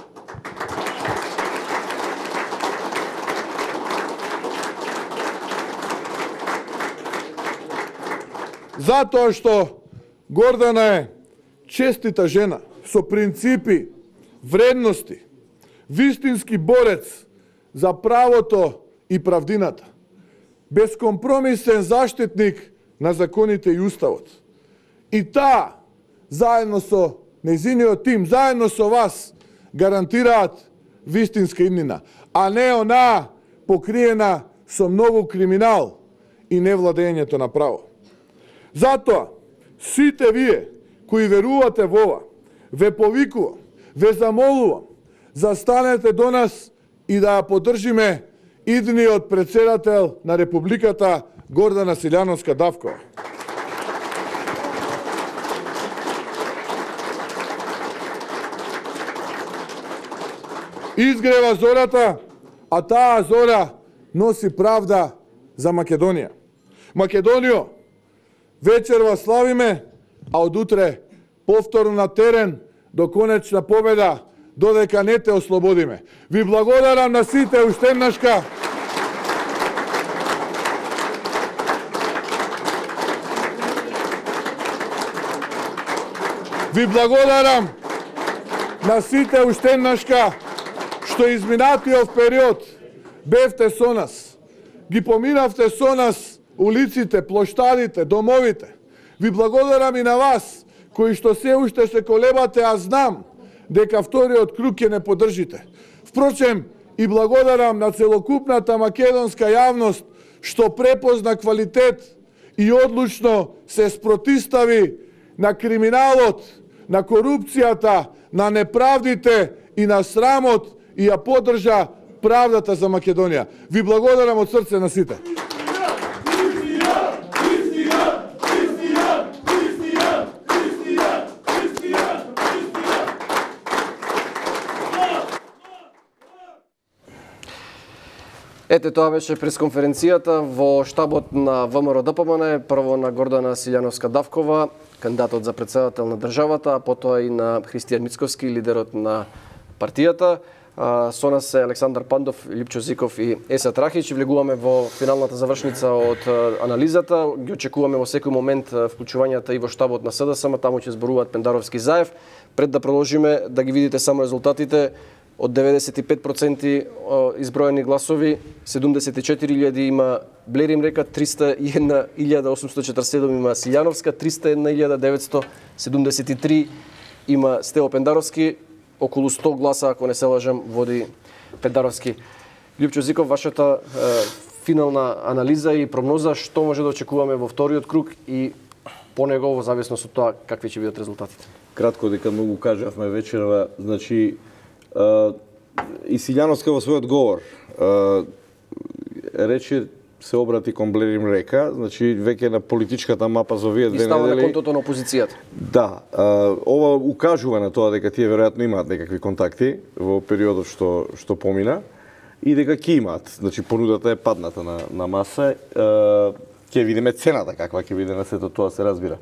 Затоа што Гордана е честита жена, со принципи, вредности, вистински борец за правото и правдината, безкомпромисен заштитник на законите и уставот. И таа, заедно со нејзиниот тим, заедно со вас, гарантираат вистинска иднина, а не онаа покриена со многу криминал и невладењето на право. Затоа, сите вие кои верувате во ова, ве повикувам, ве замолувам, застанете до нас и да ја поддржиме идниот председател на Републиката Гордана Силјановска Давкова. Изгрева зората, а таа зора носи правда за Македонија. Македонијо, вечерва славиме, а од утре повторно на терен до конечна победа, додека не те ослободиме. Ви благодарам на сите уште еднашка. Ви благодарам на сите уште еднашка што изминатиот период бевте со нас. Ги поминавте со нас улиците, плоштадите, домовите. Ви благодарам и на вас, кои што се уште се колебате, а знам дека вториот круг ќе не поддржите. Впрочем, и благодарам на целокупната македонска јавност што препозна квалитет и одлучно се спротистави на криминалот, на корупцијата, на неправдите и на срамот и ја поддржа правдата за Македонија. Ви благодарам од срце на сите. Ете, тоа беше пресконференцијата во штабот на ВМРО ДПМН, прво на Гордана Силјановска Давкова, кандидатот за председател на државата, а потоа и на Христијан Мицковски, лидерот на партијата. Со нас е Александар Пандов, Липчо Зиков и Есат Рахич. Влегуваме во финалната завршница од анализата. Ги очекуваме во секој момент вклучувањата и во штабот на СДСМ, таму ќе зборуваат Пендаровски Заев. Пред да продолжиме, да ги видите само резултатите. Од 95% изброени гласови, 74.000 има Блерим Река, 301.847 има Силјановска, 301.973 има Стево Пендаровски, околу 100 гласа, ако не се лажам, води Пендаровски. Липчо Зиков, вашата финална анализа и прогноза, што може да очекуваме во вториот круг и по него, во зависност од тоа какви ќе бидат резултатите? Кратко, дека многу кажавме вечерва, значи, и Силјановска во својот говор рече се обрати кон Блерим Река, значи веќе на политичката мапа за овие две недели. И става на контото на опозицијата. Да, ова укажува на тоа дека тие веројатно имаат некакви контакти во периодот што помина и дека ќе имаат. Значи понудата е падната на маса. Ќе видиме цената каква ќе биде на сето тоа, се разбира.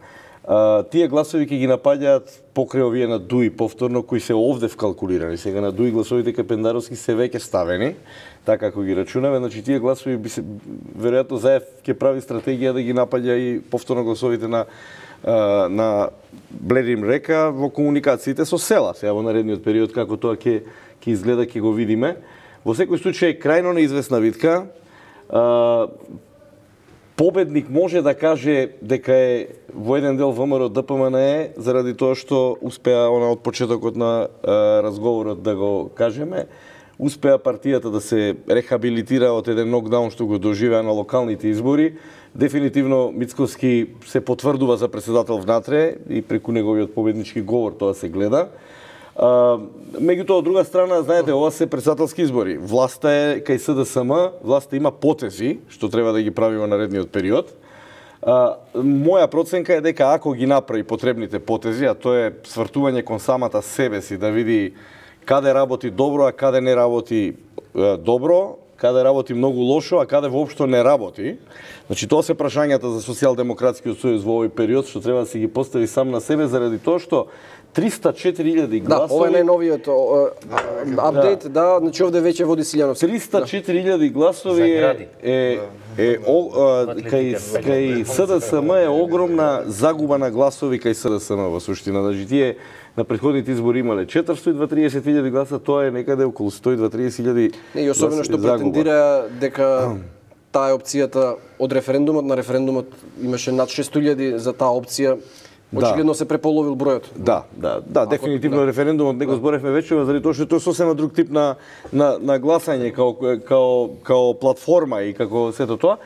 Тие гласови ќе ги напаѓаат покрај овие на ДУИ повторно, кои се овде вкалкулирани. Сега на ДУИ гласовите кај Пендаровски се веќе ставени, така како ги рачунаме. Значи тие гласови би се веројатно Заев ќе прави стратегија да ги напаѓа и повторно гласовите на Блерим Река во комуникациите со села. Сега во наредниот период како тоа ќе изгледа, ќе го видиме. Во секој случај крајно неизвестна битка. Победник може да каже дека е во еден дел ВМРО ДПМН заради тоа што успеа од почетокот на разговорот да го кажеме, успеа партијата да се рехабилитира од еден нокдаун што го доживеа на локалните избори. Дефинитивно Мицковски се потврдува за председател внатре и преку неговиот победнички говор тоа се гледа. Меѓутоа, од друга страна, знаете, ова се председателски избори. Власта е кај СДСМ, власта има потези, што треба да ги прави во наредниот период. Моја проценка е дека ако ги направи потребните потези, а тоа е свртување кон самата себе си, да види каде работи добро, а каде не работи добро, каде работи многу лошо, а каде воопшто не работи. Значи тоа се прашањата за Социјалдемократскиот сојуз во овој период што треба да си ги постави сам на себе заради тоа што 304.000 гласови. Да, ова е најновиот апдейт, да, значи овде веќе води Силјановски. 304.000 гласови кај СДСМ е огромна загуба на гласови кај СДСМ во суштина. Значи тие на претходните избори имале 430.000 гласа, тоа е некаде околу 130.000. И особено што претендира дека таа е опцијата од референдумот, на референдумот имаше над 600.000 за таа опција. Очигледно се преполовил бројот. Да, дефинитивно референдумот не го зборевме вече, заради тоа што тоа е сосема друг тип на гласање као платформа и како сето тоа.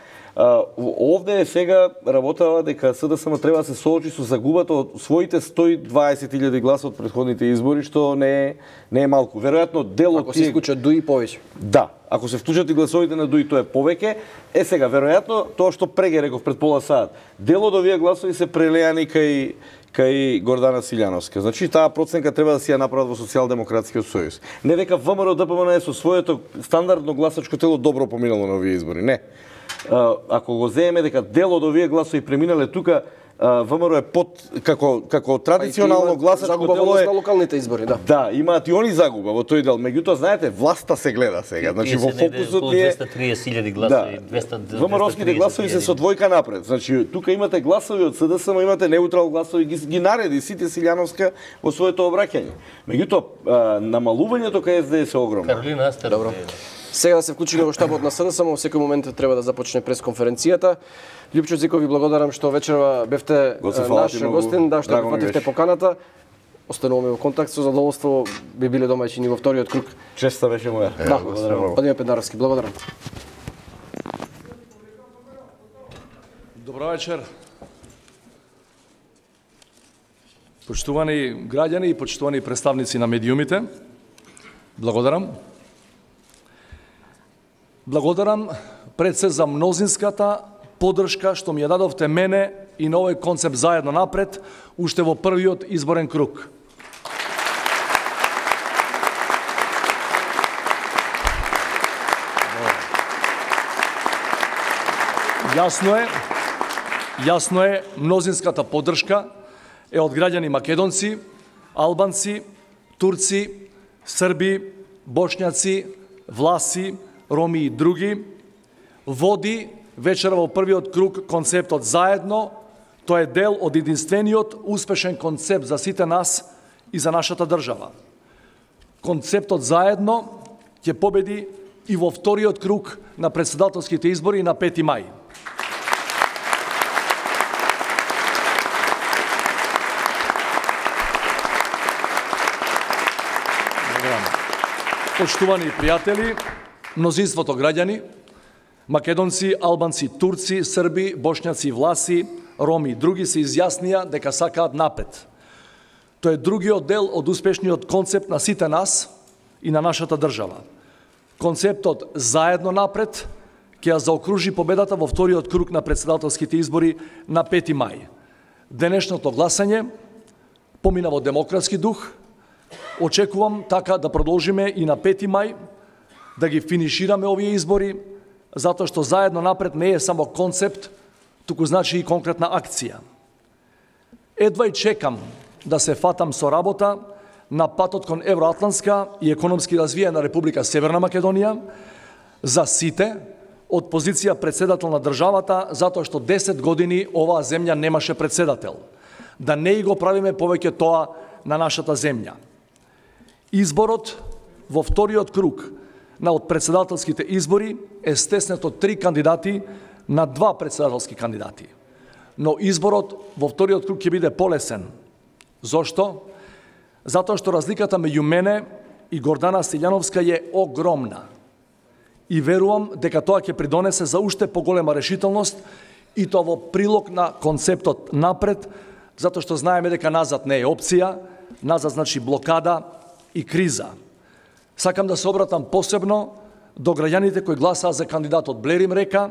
Овде сега работава дека СДСМ треба да се соочи со загубата од своите 120.000 гласа од претходните избори, што не е малку. Веројатно дел од ако се исклучат ДУИ повеќе. Да, ако се вклучат и гласовите на ДУИ, тоа е повеќе. Сега веројатно тоа што преге реков пред пола сат, дел од овие гласови се прелеани кај Гордана Силјановска. Значи таа проценка треба да си ја направат во Социјалдемократскиот сојуз. Не дека ВМРО ДПМН со своето стандардно гласачко тело добро поминало на овие избори, не. Ако го земеме дека дел од овие гласови преминале тука, ВМРО е под како традиционално гласачко тело е на локалните избори, да. Да, имаат и они загуба во тој дел. Меѓутоа знаете, власта се гледа сега. Значи во фокусот е 230.000 гласови, 200. ВМРО-ските гласови се со двојка напред. Значи тука имате гласови од СДСМ, имате неутрал гласови, ги нареди сите Силјановска во своето обраќање. Меѓутоа намалувањето кај СДС е огромно. Каролина, добро. Сега да се вклучиме во штабот на СДСМ, во секој момент треба да започне пресконференцијата. Љупчо Зиков, ви благодарам што вечерва бевте наш гостин, да, што прифативте поканата. Остануваме во контакт, со задоволство би биле домаќини во вториот круг. Честа беше моја. Да, Владимир Педнаровски, благодарам. Добро вечер. Почитувани граѓани и почитувани представници на медиумите, благодарам. Благодарам пред се за мнозинската поддршка што ми ја дадовте мене и на овој концепт заедно напред, уште во првиот изборен круг. Јасно е, мнозинската поддршка е од граѓани македонци, албанци, турци, срби, бошњаци, власи, роми и други. Води вечера во првиот круг концептот заедно. Тоа е дел од единствениот успешен концепт за сите нас и за нашата држава. Концептот заедно ќе победи и во вториот круг на претседателските избори на 5 мај. Почитувани пријатели, мнозинството граѓани, македонци, албанци, турци, срби, бошњаци, власи, роми и други се изјаснија дека сакаат напред. Тоа е другиот дел од успешниот концепт на сите нас и на нашата држава. Концептот заедно напред ќе ја заокружи победата во вториот круг на претседателските избори на 5 мај. Денешното гласање помина во демократски дух. Очекувам така да продолжиме и на 5 мај, да ги финишираме овие избори, затоа што заедно напред не е само концепт, туку значи и конкретна акција. Едва и чекам да се фатам со работа на патот кон евроатлантска и економски развиена Република Северна Македонија за сите, од позиција председател на државата, затоа што 10 години оваа земја немаше председател. Да не и го правиме повеќе тоа на нашата земја. Изборот во вториот круг на од председателските избори е стеснет од 3 кандидати на 2 председателски кандидати. Но изборот во вториот круг ќе биде полесен. Зошто? Затоа што разликата меѓу мене и Гордана Силјановска е огромна. И верувам дека тоа ќе придонесе за уште поголема решителност и тоа во прилог на концептот напред, затоа што знаеме дека назад не е опција, назад значи блокада и криза. Сакам да се обратам посебно до граѓаните кои гласаа за кандидатот Блерим Река,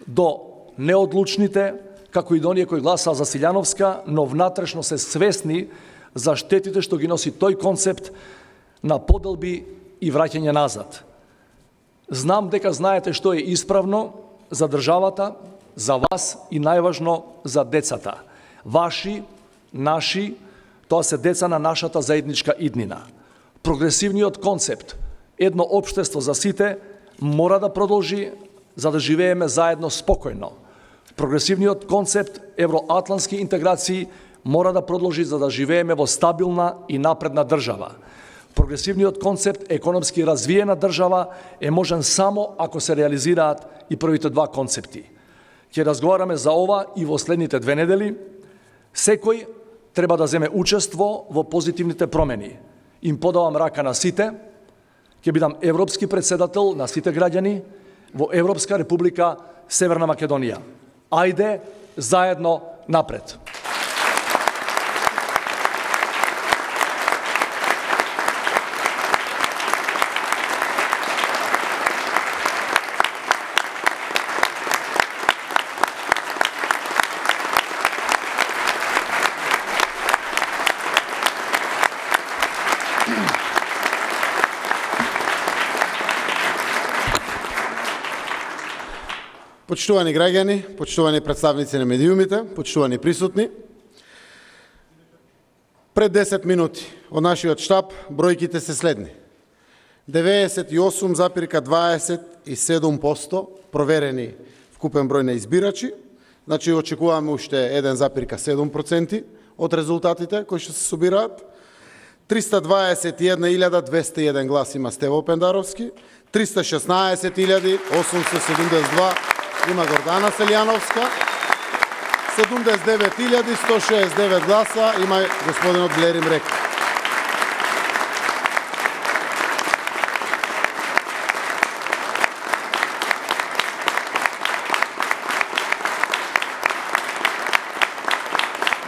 до неодлучните, како и до оние кои гласаа за Силјановска, но внатрешно се свесни за штетите што ги носи тој концепт на поделби и враќање назад. Знам дека знаете што е исправно за државата, за вас и најважно за децата. Ваши, наши, тоа се деца на нашата заедничка иднина. Прогресивниот концепт, едно општество за сите, мора да продолжи за да живееме заедно спокојно. Прогресивниот концепт евроатлантски интеграции мора да продолжи за да живееме во стабилна и напредна држава. Прогресивниот концепт економски развиена држава е можен само ако се реализираат и првите два концепти. Ќе разговараме за ова и во следните 2 недели. Секој треба да земе учество во позитивните промени. Им подавам рака на сите. Ќе бидам европски председател на сите граѓани во Европска република Северна Македонија. Ајде, заедно напред! Почитувани граѓани, почитувани представници на медиумите, почитувани присутни, пред 10 минути од нашиот штаб бројките се следни. 98,27% проверени вкупен број на избирачи, значи очекуваме уште 1,7% од резултатите кои ќе се собираат. 321.201 глас има Стево Пендаровски, 316.872 има Гордана Селјановска, 79.169 гласа има господинот Блерим Река.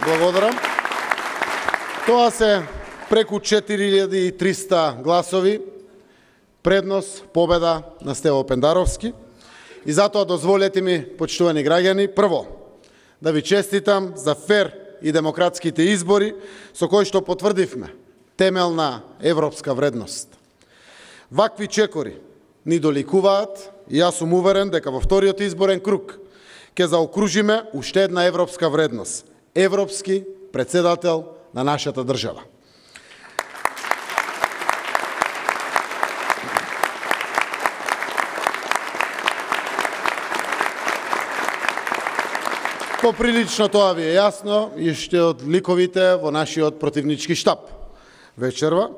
Благодарам. Тоа се преку 4300 гласови, предност, победа на Стево Пендаровски. И затоа дозволете ми, почитувани граѓани, прво, да ви честитам за фер и демократските избори со кои што потврдивме темелна европска вредност. Вакви чекори ни доликуваат и јас сум уверен дека во вториот изборен круг ќе заокружиме уште една европска вредност. Европски председател на нашата држава. Поприлично тоа ви е јасно и ще од ликовите во нашиот противнички штаб вечерва.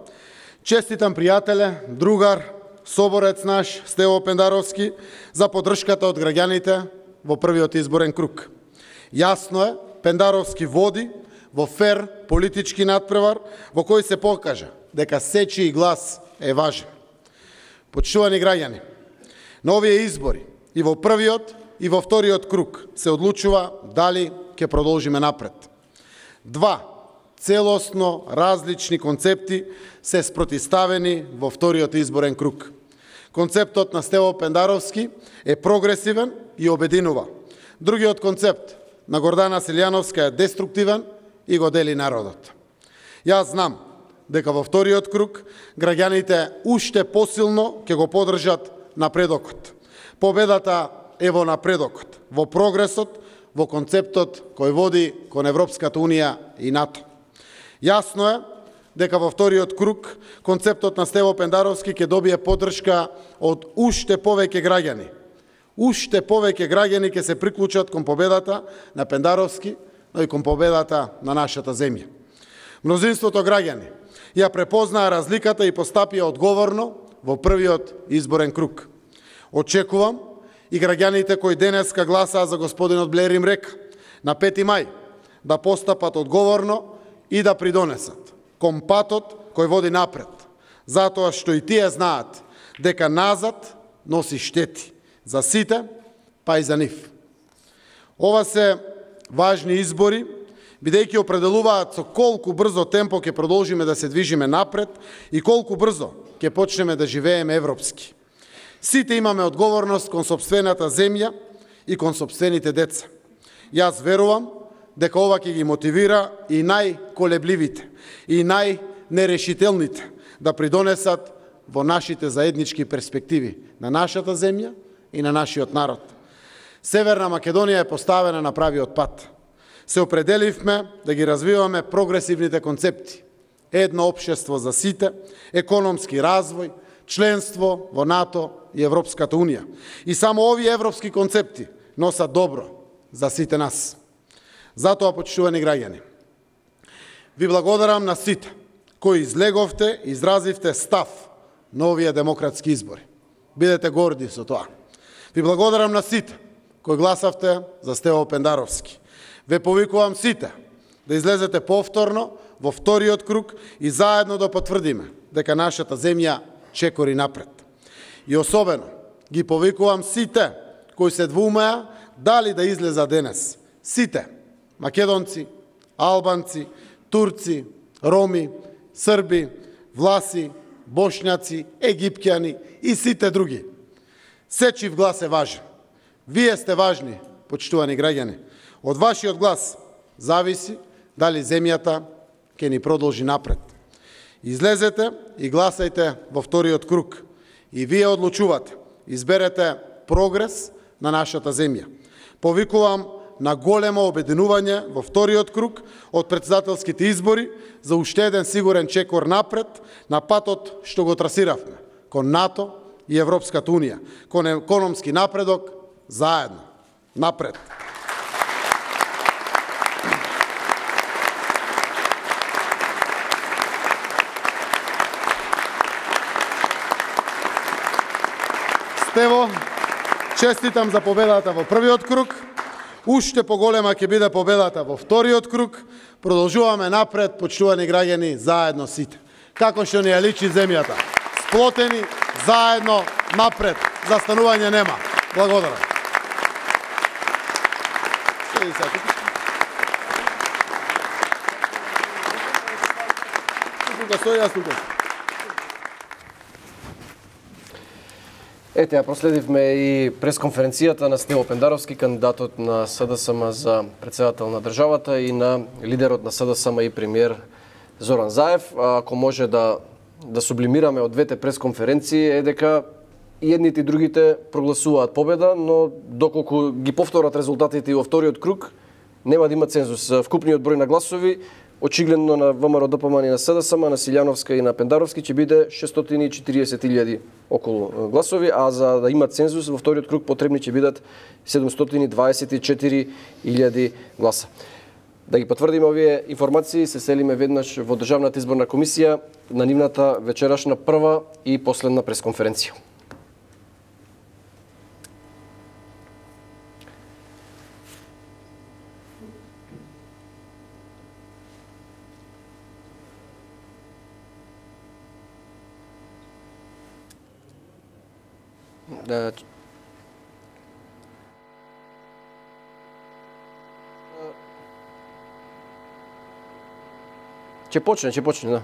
Честитам пријателе, другар, соборец наш Стево Пендаровски за поддршката од граѓаните во првиот изборен круг. Јасно е, Пендаровски води во фер политички надпревар во кој се покажа дека сечи глас е важен. Почитувани граѓани, на овие избори и во првиот и во вториот круг се одлучува дали ќе продолжиме напред. Два целосно различни концепти се спротиставени во вториот изборен круг. Концептот на Стево Пендаровски е прогресивен и обединува. Другиот концепт на Гордана Селјановска е деструктивен и го дели народот. Јас знам дека во вториот круг граѓаните уште посилно ќе го поддржат напредокот. Победата е во напредокот, во прогресот, во концептот кој води кон Европската Унија и НАТО. Јасно е дека во вториот круг концептот на Стево Пендаровски ќе добие поддршка од уште повеќе граѓани. Уште повеќе граѓани ќе се приклучат кон победата на Пендаровски, но и кон победата на нашата земја. Мнозинството граѓани ја препознаа разликата и постапија одговорно во првиот изборен круг. Очекувам и граѓаните кои денеска гласаа за господинот Блерим Река на 5 мај да постапат одговорно и да придонесат кон патот кој води напред, затоа што и тие знаат дека назад носи штети за сите, па и за нив. Ова се важни избори, бидејќи определуваат со колку брзо темпо ќе продолжиме да се движиме напред и колку брзо ќе почнеме да живееме европски. Сите имаме одговорност кон сопствената земја и кон сопствените деца. Јас верувам дека ова ќе ги мотивира и најколебливите, и најнерешителните да придонесат во нашите заеднички перспективи на нашата земја и на нашиот народ. Северна Македонија е поставена на правиот пат. Се определивме да ги развиваме прогресивните концепти. Едно општество за сите, економски развој, членство во НАТО и Европската Унија. И само овие европски концепти носат добро за сите нас. Затоа, почитувани граѓани, ви благодарам на сите кои излеговте, изразивте став на овие демократски избори. Бидете горди со тоа. Ви благодарам на сите кои гласавте за Стево Пендаровски. Ве повикувам сите да излезете повторно во вториот круг и заедно да потврдиме дека нашата земја чекори напред. И особено ги повикувам сите кои се двумеа дали да излеза денес. Сите македонци, албанци, турци, роми, срби, власи, бошњаци, египќани и сите други. Сечив глас е важен. Вие сте важни, почитувани граѓани. Од вашиот глас зависи дали земјата ќе ни продолжи напред. Излезете и гласајте во вториот круг. И вие одлучувате. Изберете прогрес на нашата земја. Повикувам на големо обединување во вториот круг од претседателските избори за уште еден сигурен чекор напред на патот што го трасиравме кон НАТО и Европската Унија, кон економски напредок заедно. Напред. Стево, честитам за победата во првиот круг. Уште поголема ќе биде победата во вториот круг. Продолжуваме напред, почитувани граѓани, заедно сите. Како што ни ја личи земјата. Сплотени, заедно, напред. Застанување нема. Благодарам. Ете, ја проследивме и пресконференцијата на Стево Пендаровски, кандидатот на СДСМ за председател на државата и на лидерот на СДСМ и премиер Зоран Заев. Ако може да сублимираме од двете пресконференции е дека и едните и другите прогласуваат победа, но доколку ги повторат резултатите и во вториот круг, нема да има цензус. Вкупниот број на гласови, очигледно на ВМРО ДПМН и на СДСМ, на Силјановска и на Пендаровски, ќе биде 640.000 околу гласови, а за да има цензус во вториот круг потребни ќе бидат 724.000 гласа. Да ги потврдиме овие информации, се селиме веднаш во Државната изборна комисија на нивната вечерашна прва и последна пресконференција. Ќе почне, да.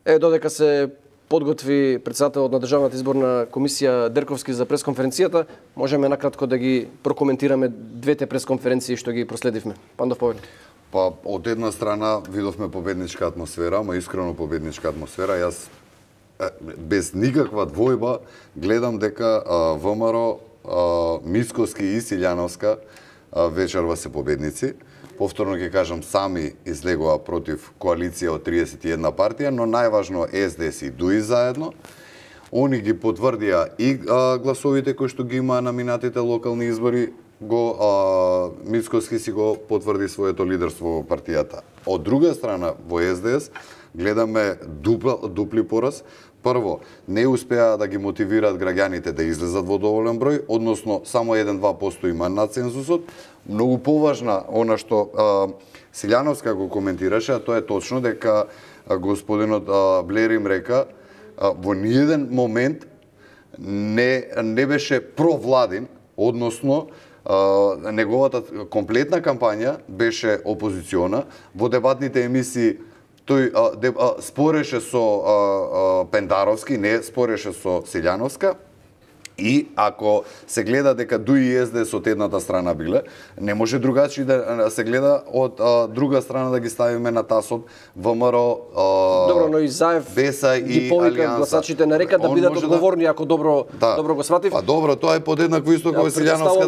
Додека се подготви председателот на Државната изборна комисија Дерковски за пресконференцијата, можеме накратко да ги прокоментираме двете пресконференции што ги проследивме. Пандов Поверник. Па, од една страна видовме победничка атмосфера, ама искрено победничка атмосфера. Јас без никаква двојба гледам дека ВМРО, Мицкоски и Силјановска вечерва се победници. Повторно ќе кажам, сами излегува против коалиција од 31 партија, но најважно СДС и ДУИ заедно. Они ги потврдија и гласовите кои што ги имаа на минатите локални избори, Мицкоски си го потврди своето лидерство во партијата. Од друга страна, во СДС, гледаме дупли пораз. Прво, не успеа да ги мотивираат граѓаните да излезат во доволен број, односно само 1-2% има над цензусот. Многу поважна она што Силјановска го коментираше, а тоа е точно дека господинот Блер им река во ниеден момент не беше провладин, односно неговата комплетна кампања беше опозициона. Во дебатните емисии тој спореше со Пендаровски, не спореше со Силјановска. И ако се гледа дека ДУИ и СДС од едната страна биле, не може другачи да се гледа од друга страна да ги ставиме на тасот ВМРО, Добро, но и Заев Беса ги и повика Алијанса. гласачите на река да бидат одговорни, ако добро го сватив. Па добро, тоа е подеднакво исто како Силјановска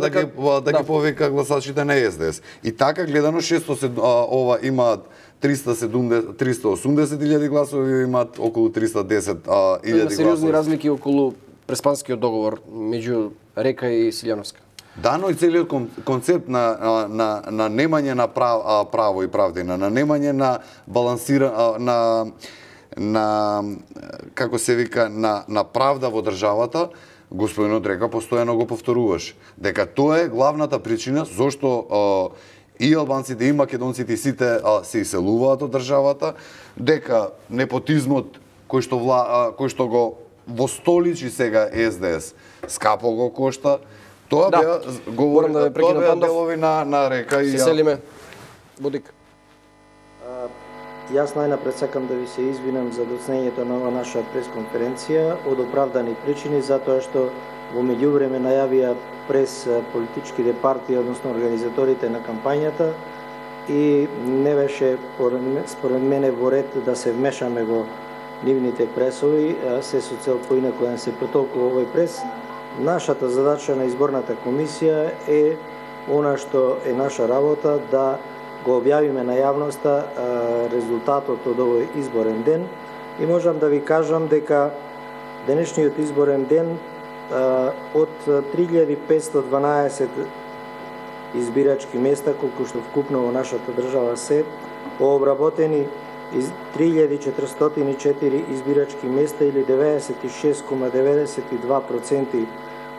да ги повика гласачите на СДС. И така гледано 600 ова имаат 380.000 гласови, имаат околу 310.000 гласови. Сериозни разлики околу преспанскиот договор меѓу Река и Силјановска. Да, но и целиот концепт на немање на право и правдина, на немање на како се вика, на правда во државата, господинот Река постојано го повторуваше. Дека тоа е главната причина зошто и албанците, и македонците, и сите се иселуваат од државата, дека непотизмот кој што го востоличи сега СДС, скапо го кошта. Тоа беа говорам да ве прекинам, Пандов. делови на Река и се селиме. Будик. Јас најнапред сакам да ви се извинам за доцнењето на ова наша пресконференција од оправдани причини, затоа што во меѓувреме најавија прес политичките партии, односно организаторите на кампањата, и не беше според мене во ред да се вмешаме во нивните пресови, се со цел поинаку да се протолкува овој прес. Нашата задача на изборната комисија е она што е наша работа, да го објавиме на јавноста резултатот од овој изборен ден, и можам да ви кажам дека денешниот изборен ден од 3512 избирачки места, колку што вкупно во нашата држава се, обработени 3404 избирачки места или 96,92%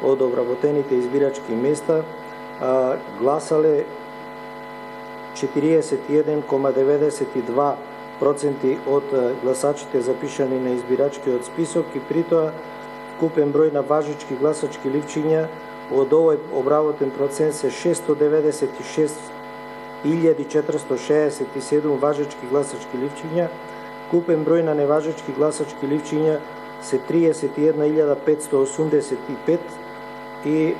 од обработените избирачки места, гласале 41,92% од гласачите запишани на избирачкиот список, и при тоа вкупен број на важички гласачки ливчиња од овој обработен процент се 696.467 важички гласачки ливчиња, купен број на неважички гласачки ливчиња се 31.585 и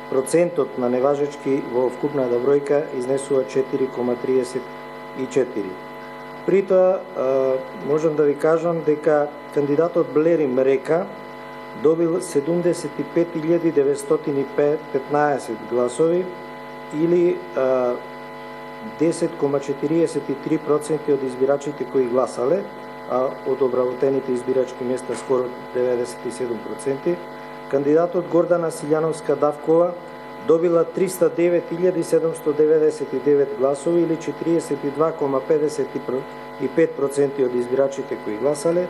процентот на неважички во вкупната бројка изнесува 4,34. При тоа можам да ви кажам дека кандидатот Блерим Река добил 75.915 гласови или 10,43% од избирачите кои гласале, а од обработените избирачки места скоро 97%. Кандидатот Гордана Силјановска Давкова добила 309.799 гласови или 42,55% од избирачите кои гласале.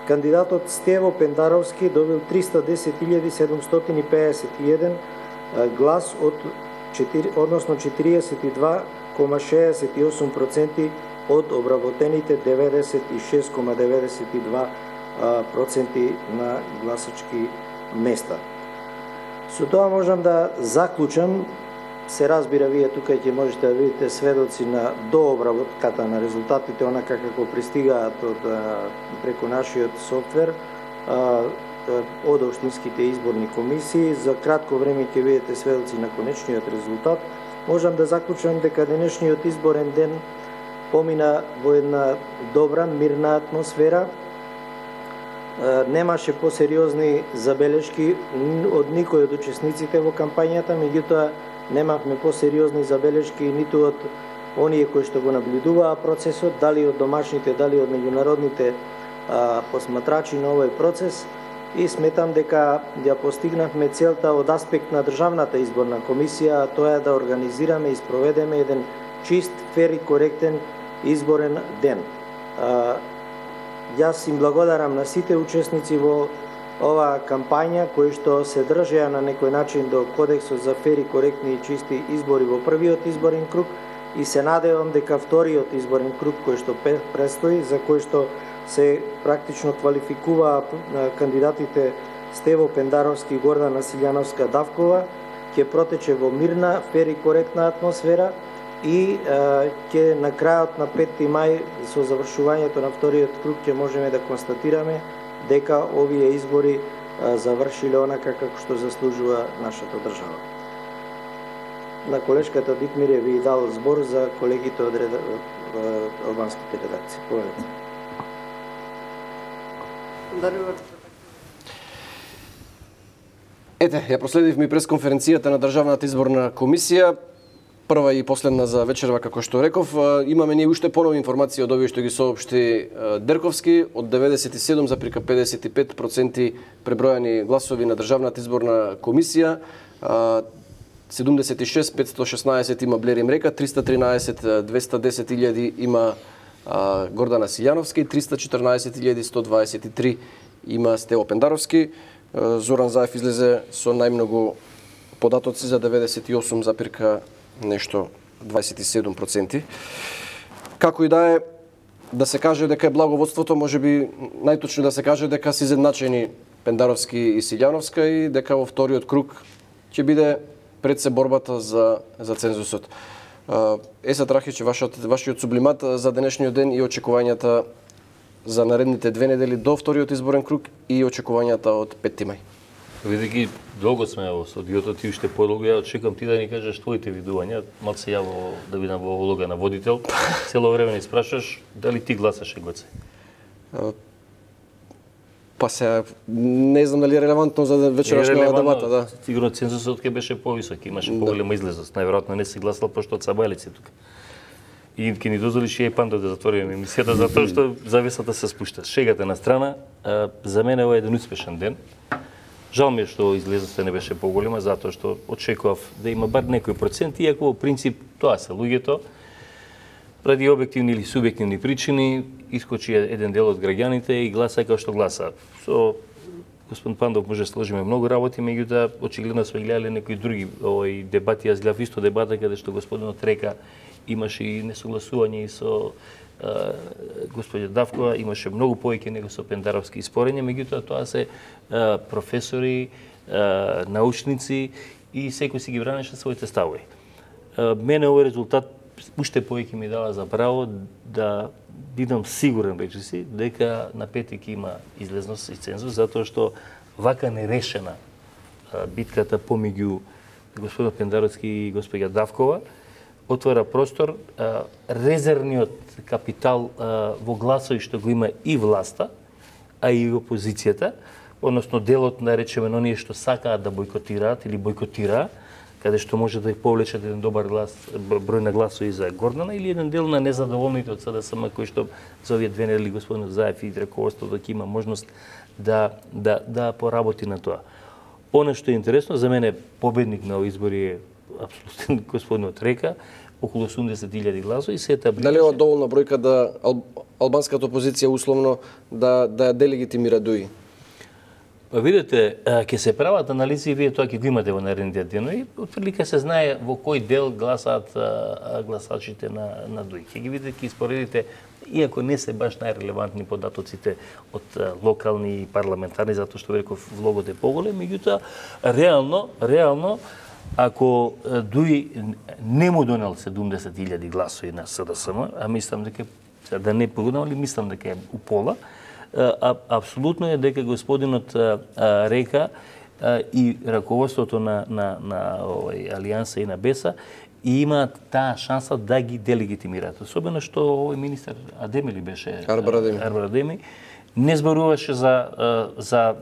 Кандидатот Стево Пендаровски добил 310.751 глас односно 42,68% од обработените 96,92% на гласачки места. Со тоа можам да заклучам, се разбира, вие тука ќе можете да видите сведоци на дообработката на резултатите, онака како пристигаат преку нашиот софтвер од општинските изборни комисии. За кратко време ќе видите сведоци на конечниот резултат. Можам да заклучам дека денешниот изборен ден помина во една добра, мирна атмосфера. Немаше посериозни забелешки од никој од учесниците во кампањата, меѓутоа немавме посериозни забелешки ниту од оние кои што го наблюдуваа процесот, дали од домашните, дали од меѓународните посматрачи на овој процес, и сметам дека ја постигнавме целта од аспект на Државната изборна комисија, а тоа е да организираме и спроведеме еден чист, фер и коректен изборен ден. Јас им благодарам на сите учесници во оваа кампања кои што се држеа на некој начин до кодексот за фери, коректни и чисти избори во првиот изборен круг и се надевам дека вториот изборен круг кој што престои, за кој што се практично квалификуваа кандидатите Стево Пендаровски и Гордана Силјановска-Давкова, ќе протече во мирна, фери, коректна атмосфера и ќе на крајот на 5 мај со завршувањето на вториот круг ќе можеме да констатираме дека овие избори завршиле онака како што заслужува нашата држава. На колешката Дитмире ви дал збор за колегите од албанските редакции. Повелете. Ете, ја проследивме пресконференцијата на Државната изборна комисија, прва и последна за вечерва, како што реков. Имаме ние уште понови информации од овие што ги соопшти Дерковски, од 97,55% пребројани гласови на Државната изборна комисија, 76,516 има Блери Мрека, 313,210 има Гордана Силјановска и 314,123 има Стево Пендаровски. Зоран Заев излезе со најмногу податоци за 98, нешто 27%. Како и да се каже дека е благоводството, можеби најточно да се каже дека се изедначени Пендаровски и Силјановска и дека во вториот круг ќе биде пред се борбата за цензусот. Есат Рахич, вашиот сублимат за денешниот ден и очекувањата за наредните 2 недели до вториот изборен круг и очекувањата од 5 мај. Видејќи долго сме во студиото, ти уште подолго, ја очекувам ти да ни кажеш твоите видувања, малце ја да бидам во улога на водител. Цело време ни спрашуваш дали ти гласаше, Гоце? Па се не знам дали е релевантно за вечерашната дебата, да. Сигурно цензусот ќе беше повисок, имаше поголема излезност. Најверојатно не си гласал пошто од Сабајлици тука. И ќе ни дозволиш и Панда да затвориме емисијата затоа што завесата се спушта. Шегата на страна, за мене ова е еден успешен ден. Жал ми е што излезноста не беше поголема, затоа што очекував да има бар некој процент, иако во принцип тоа се луѓето. Ради објективни или субјективни причини искочи еден дел од граѓаните и гласа како што гласа. Со господин Пандов може да сложиме многу работи, меѓутоа очигледно сме гледале некои други дебати. Јас гледав исто дебата каде што господинот Река имаше и несогласување и со господја Давкова, имаше многу повеќе него со Пендаровски спорење, меѓутоа тоа се професори, научници и секој си ги бранеше своите ставови. Мене овој резултат уште повеќе ми дава за право да бидам сигурен речиси дека на петик има излезност и цензус, затоа што вака нерешена битката помеѓу господин Пендаровски и господја Давкова отвора простор резервниот капитал во гласови што го има и власта, а и опозицијата, односно делот на речеме на оние што сакаат да бойкотираат или бойкотираа, каде што може да повлечат еден добар број на гласови за Гордана, или еден дел на незадоволните од СДСМ кои што за овие 2 недели господин Заев и раководството ќе има можност да поработи на тоа. Оно што е интересно за мене, победник на овие избори е апсолутно господинот Река, околу 80.000 гласови, се етаблираше. Дали е доволна бројка да албанската опозиција условно да ја делегитимира ДУИ? Па видите, ќе се прават анализи и вие тоа ќе го имате во наредните денови. Отприлика се знае во кој дел гласаат гласачите на ДУИ. Ќе ги видите, ќе испоредите, иако не се баш најрелевантни податоците од локални и парламентарни, затоа што реков влогот е поголем, меѓутоа реално ако ДУИ не му донел 70.000 гласови на СДСМ, а мислам дека да не погодам, али мислам дека е у пола, апсолутно е дека господинот Река и раководството на Алијанса и на БЕСА и имаат таа шанса да ги делегитимираат. Особено што овој министер Адеми ли беше? Арбар Адеми не зборуваше за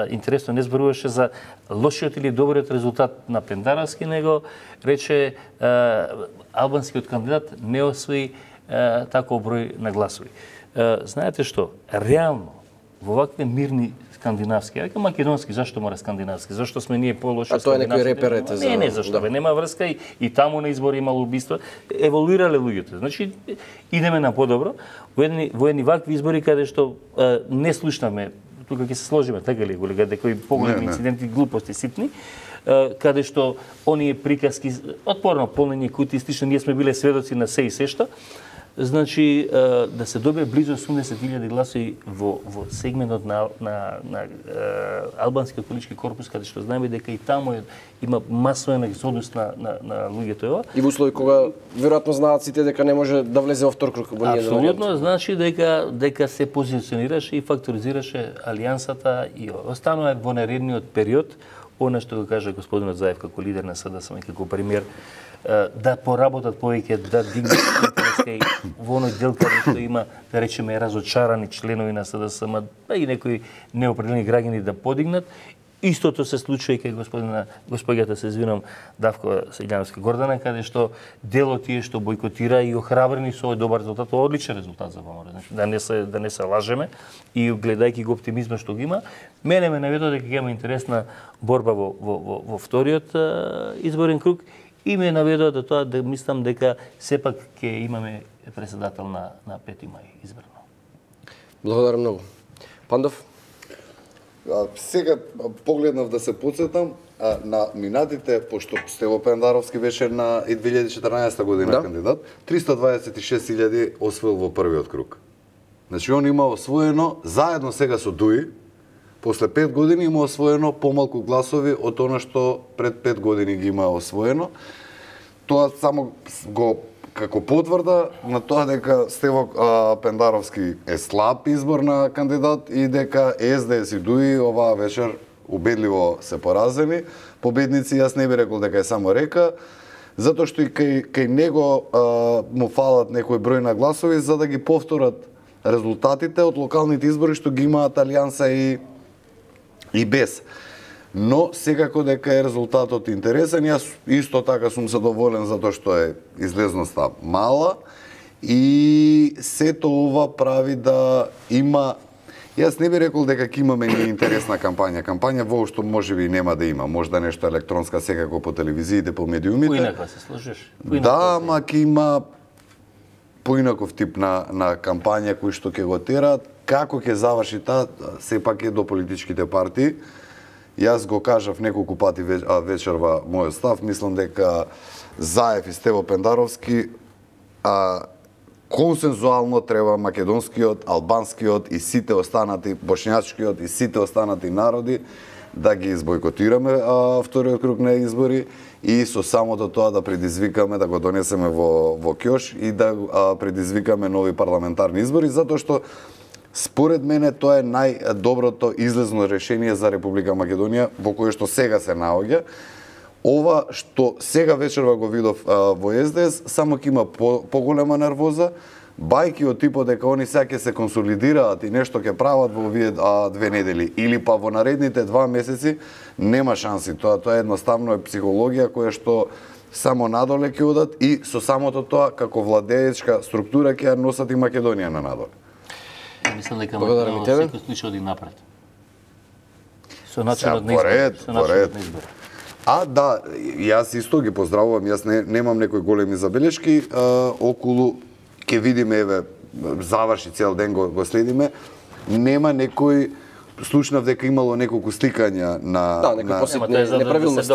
интересно, не зборуваше за лошиот или добриот резултат на Пендаровски, него рече албанскиот кандидат не освои таков број на гласови. Знаете што? Реално, во вакви мирни скандинавски, река македонски, зашто мора скандинавски? Зашто сме ние полоши од скандинавски? А тоа е некој репер ете за... Не, зашто бе, нема врска и таму на избори имало убиства, еволуирале луѓето. Значи идеме на подобро. Во едни вакви избори каде што не слушнаме, тука ќе се сложиме, така ли, колега, дека и поголеми инциденти, глупости ситни, каде што оние приказки, отпорно полнење кутии, слично, ние сме биле сведоци на се и се што, значи да се добие близу 80.000 гласови во сегментот на албанскиот политички корпус, каде што знаеме дека и таму има масовен екзодус на луѓето. И во услови кога веројатно знаат сите дека не може да влезе во втор круг. Апсолутно, значи дека се позиционираше и факторизираше алијансата и останува во наредниот период, она што го кажа господинот Заев како лидер на СДСМ, како премиер, да поработат повеќе, да дигнат интереска во оној дел каде што има, да речеме, разочарани членови на СДСМ, и некои неопределени граѓани да подигнат. Истото се случува и кај господјата, се извинам, Давкова Силјановска Гордана, каде што дел од тие што бойкотира и охрабрени со овој добар резултат, одличен резултат за ВМРО. Значи, да не се лажеме и гледајќи го оптимизма што го има, мене ме наведува дека ќе има интересна борба во вториот изборен круг. И ме наведува до тоа да мислам дека сепак ќе имаме председател на 5 мај избрано. Благодарам многу. Пандов? Сега погледнав да се подсетам на минатите, пошто Стево Пендаровски беше на 2014 година кандидат, 326.000 освоил во првиот круг. Значи он има освоено заедно сега со Дуи, после 5 години има освоено помалку гласови од она што пред 5 години ги има освоено. Тоа само го како потврда на тоа дека Стево Пендаровски е слаб избор на кандидат и дека СДС и Дуи оваа вечер убедливо се поразени. Победници, јас не би рекол дека е само Река, затоа што и кај него му фалат некој број на гласови за да ги повторат резултатите од локалните избори што ги имаат Алијанса и без. Но секако дека е резултатот интересен, јас исто така сум задоволен затоа што е излезноста мала и сето ова прави да има. Јас не би рекол дека ќе имаме неинтересна кампања. Кампања воопшто можеби нема да има. Можда нешто електронска секако по телевизиите, по медиумите. Поинако се сложиш. Да, ама ќе има поинаков тип на кампања кои што ќе го терат. Како ќе заврши таа, сепак е до политичките партии. Јас го кажав неколку пати вечерва мојот став, мислам дека Заев и Стево Пендаровски консензуално треба македонскиот, албанскиот и сите останати, бошњачкиот и сите останати народи да ги избойкотираме вториот круг на избори и со самото тоа да предизвикаме, да го донесеме во ќош и да предизвикаме нови парламентарни избори, затоа што според мене тоа е најдоброто излезно решение за Република Македонија во кое што сега се наоѓа. Ова што сега вечерва го видов во СДС само ќе има поголема нервоза, бајки од типот дека они сега ќе се консолидираат и нешто ќе прават во овие 2 недели или па во наредните 2 месеци, нема шанси. Тоа е едноставно психологија која што само надоле ќе одат и со самото тоа како владеечка структура ќе ја носат и Македонија на надоле. Мислам дека секој случај оди напред. Со начинот на избор. Да, јас исто ги поздравувам, јас немам некои големи забелешки околу, ќе видиме, еве, заврши цел ден го следиме, нема некој, слушнав дека имало неколку сликања на неправилности,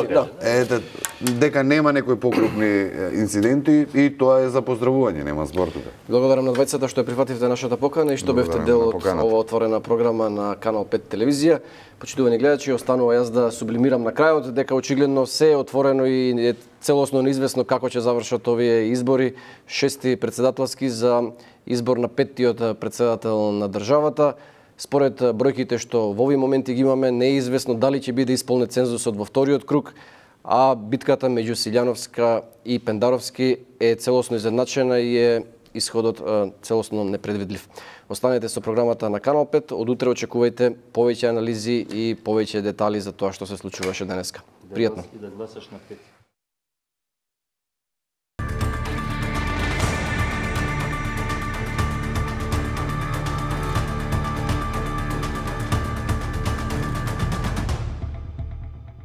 дека нема некои покрупни инциденти и тоа е за поздравување, нема збор тука. Благодарам на двајцата што ја прифативте нашата покана и што бевте дел од ова отворена програма на Канал 5 телевизија. Почитувани гледачи, останува јас да сублимирам на крајот дека очигледно се е отворено и е целосно неизвестно како ќе завршат овие избори, 6-ти председателски за избор на 5-тиот председател на државата. Според бројките што во овој моменти ги имаме, не е известно дали ќе биде исполнет цензусот во вториот круг, а битката меѓу Силјановска и Пендаровски е целосно изедначена и е исходот целосно непредвидлив. Останете со програмата на Канал 5, од утре очекувајте повеќе анализи и повеќе детали за тоа што се случуваше денеска. Пријатно. Да гласаш на 5.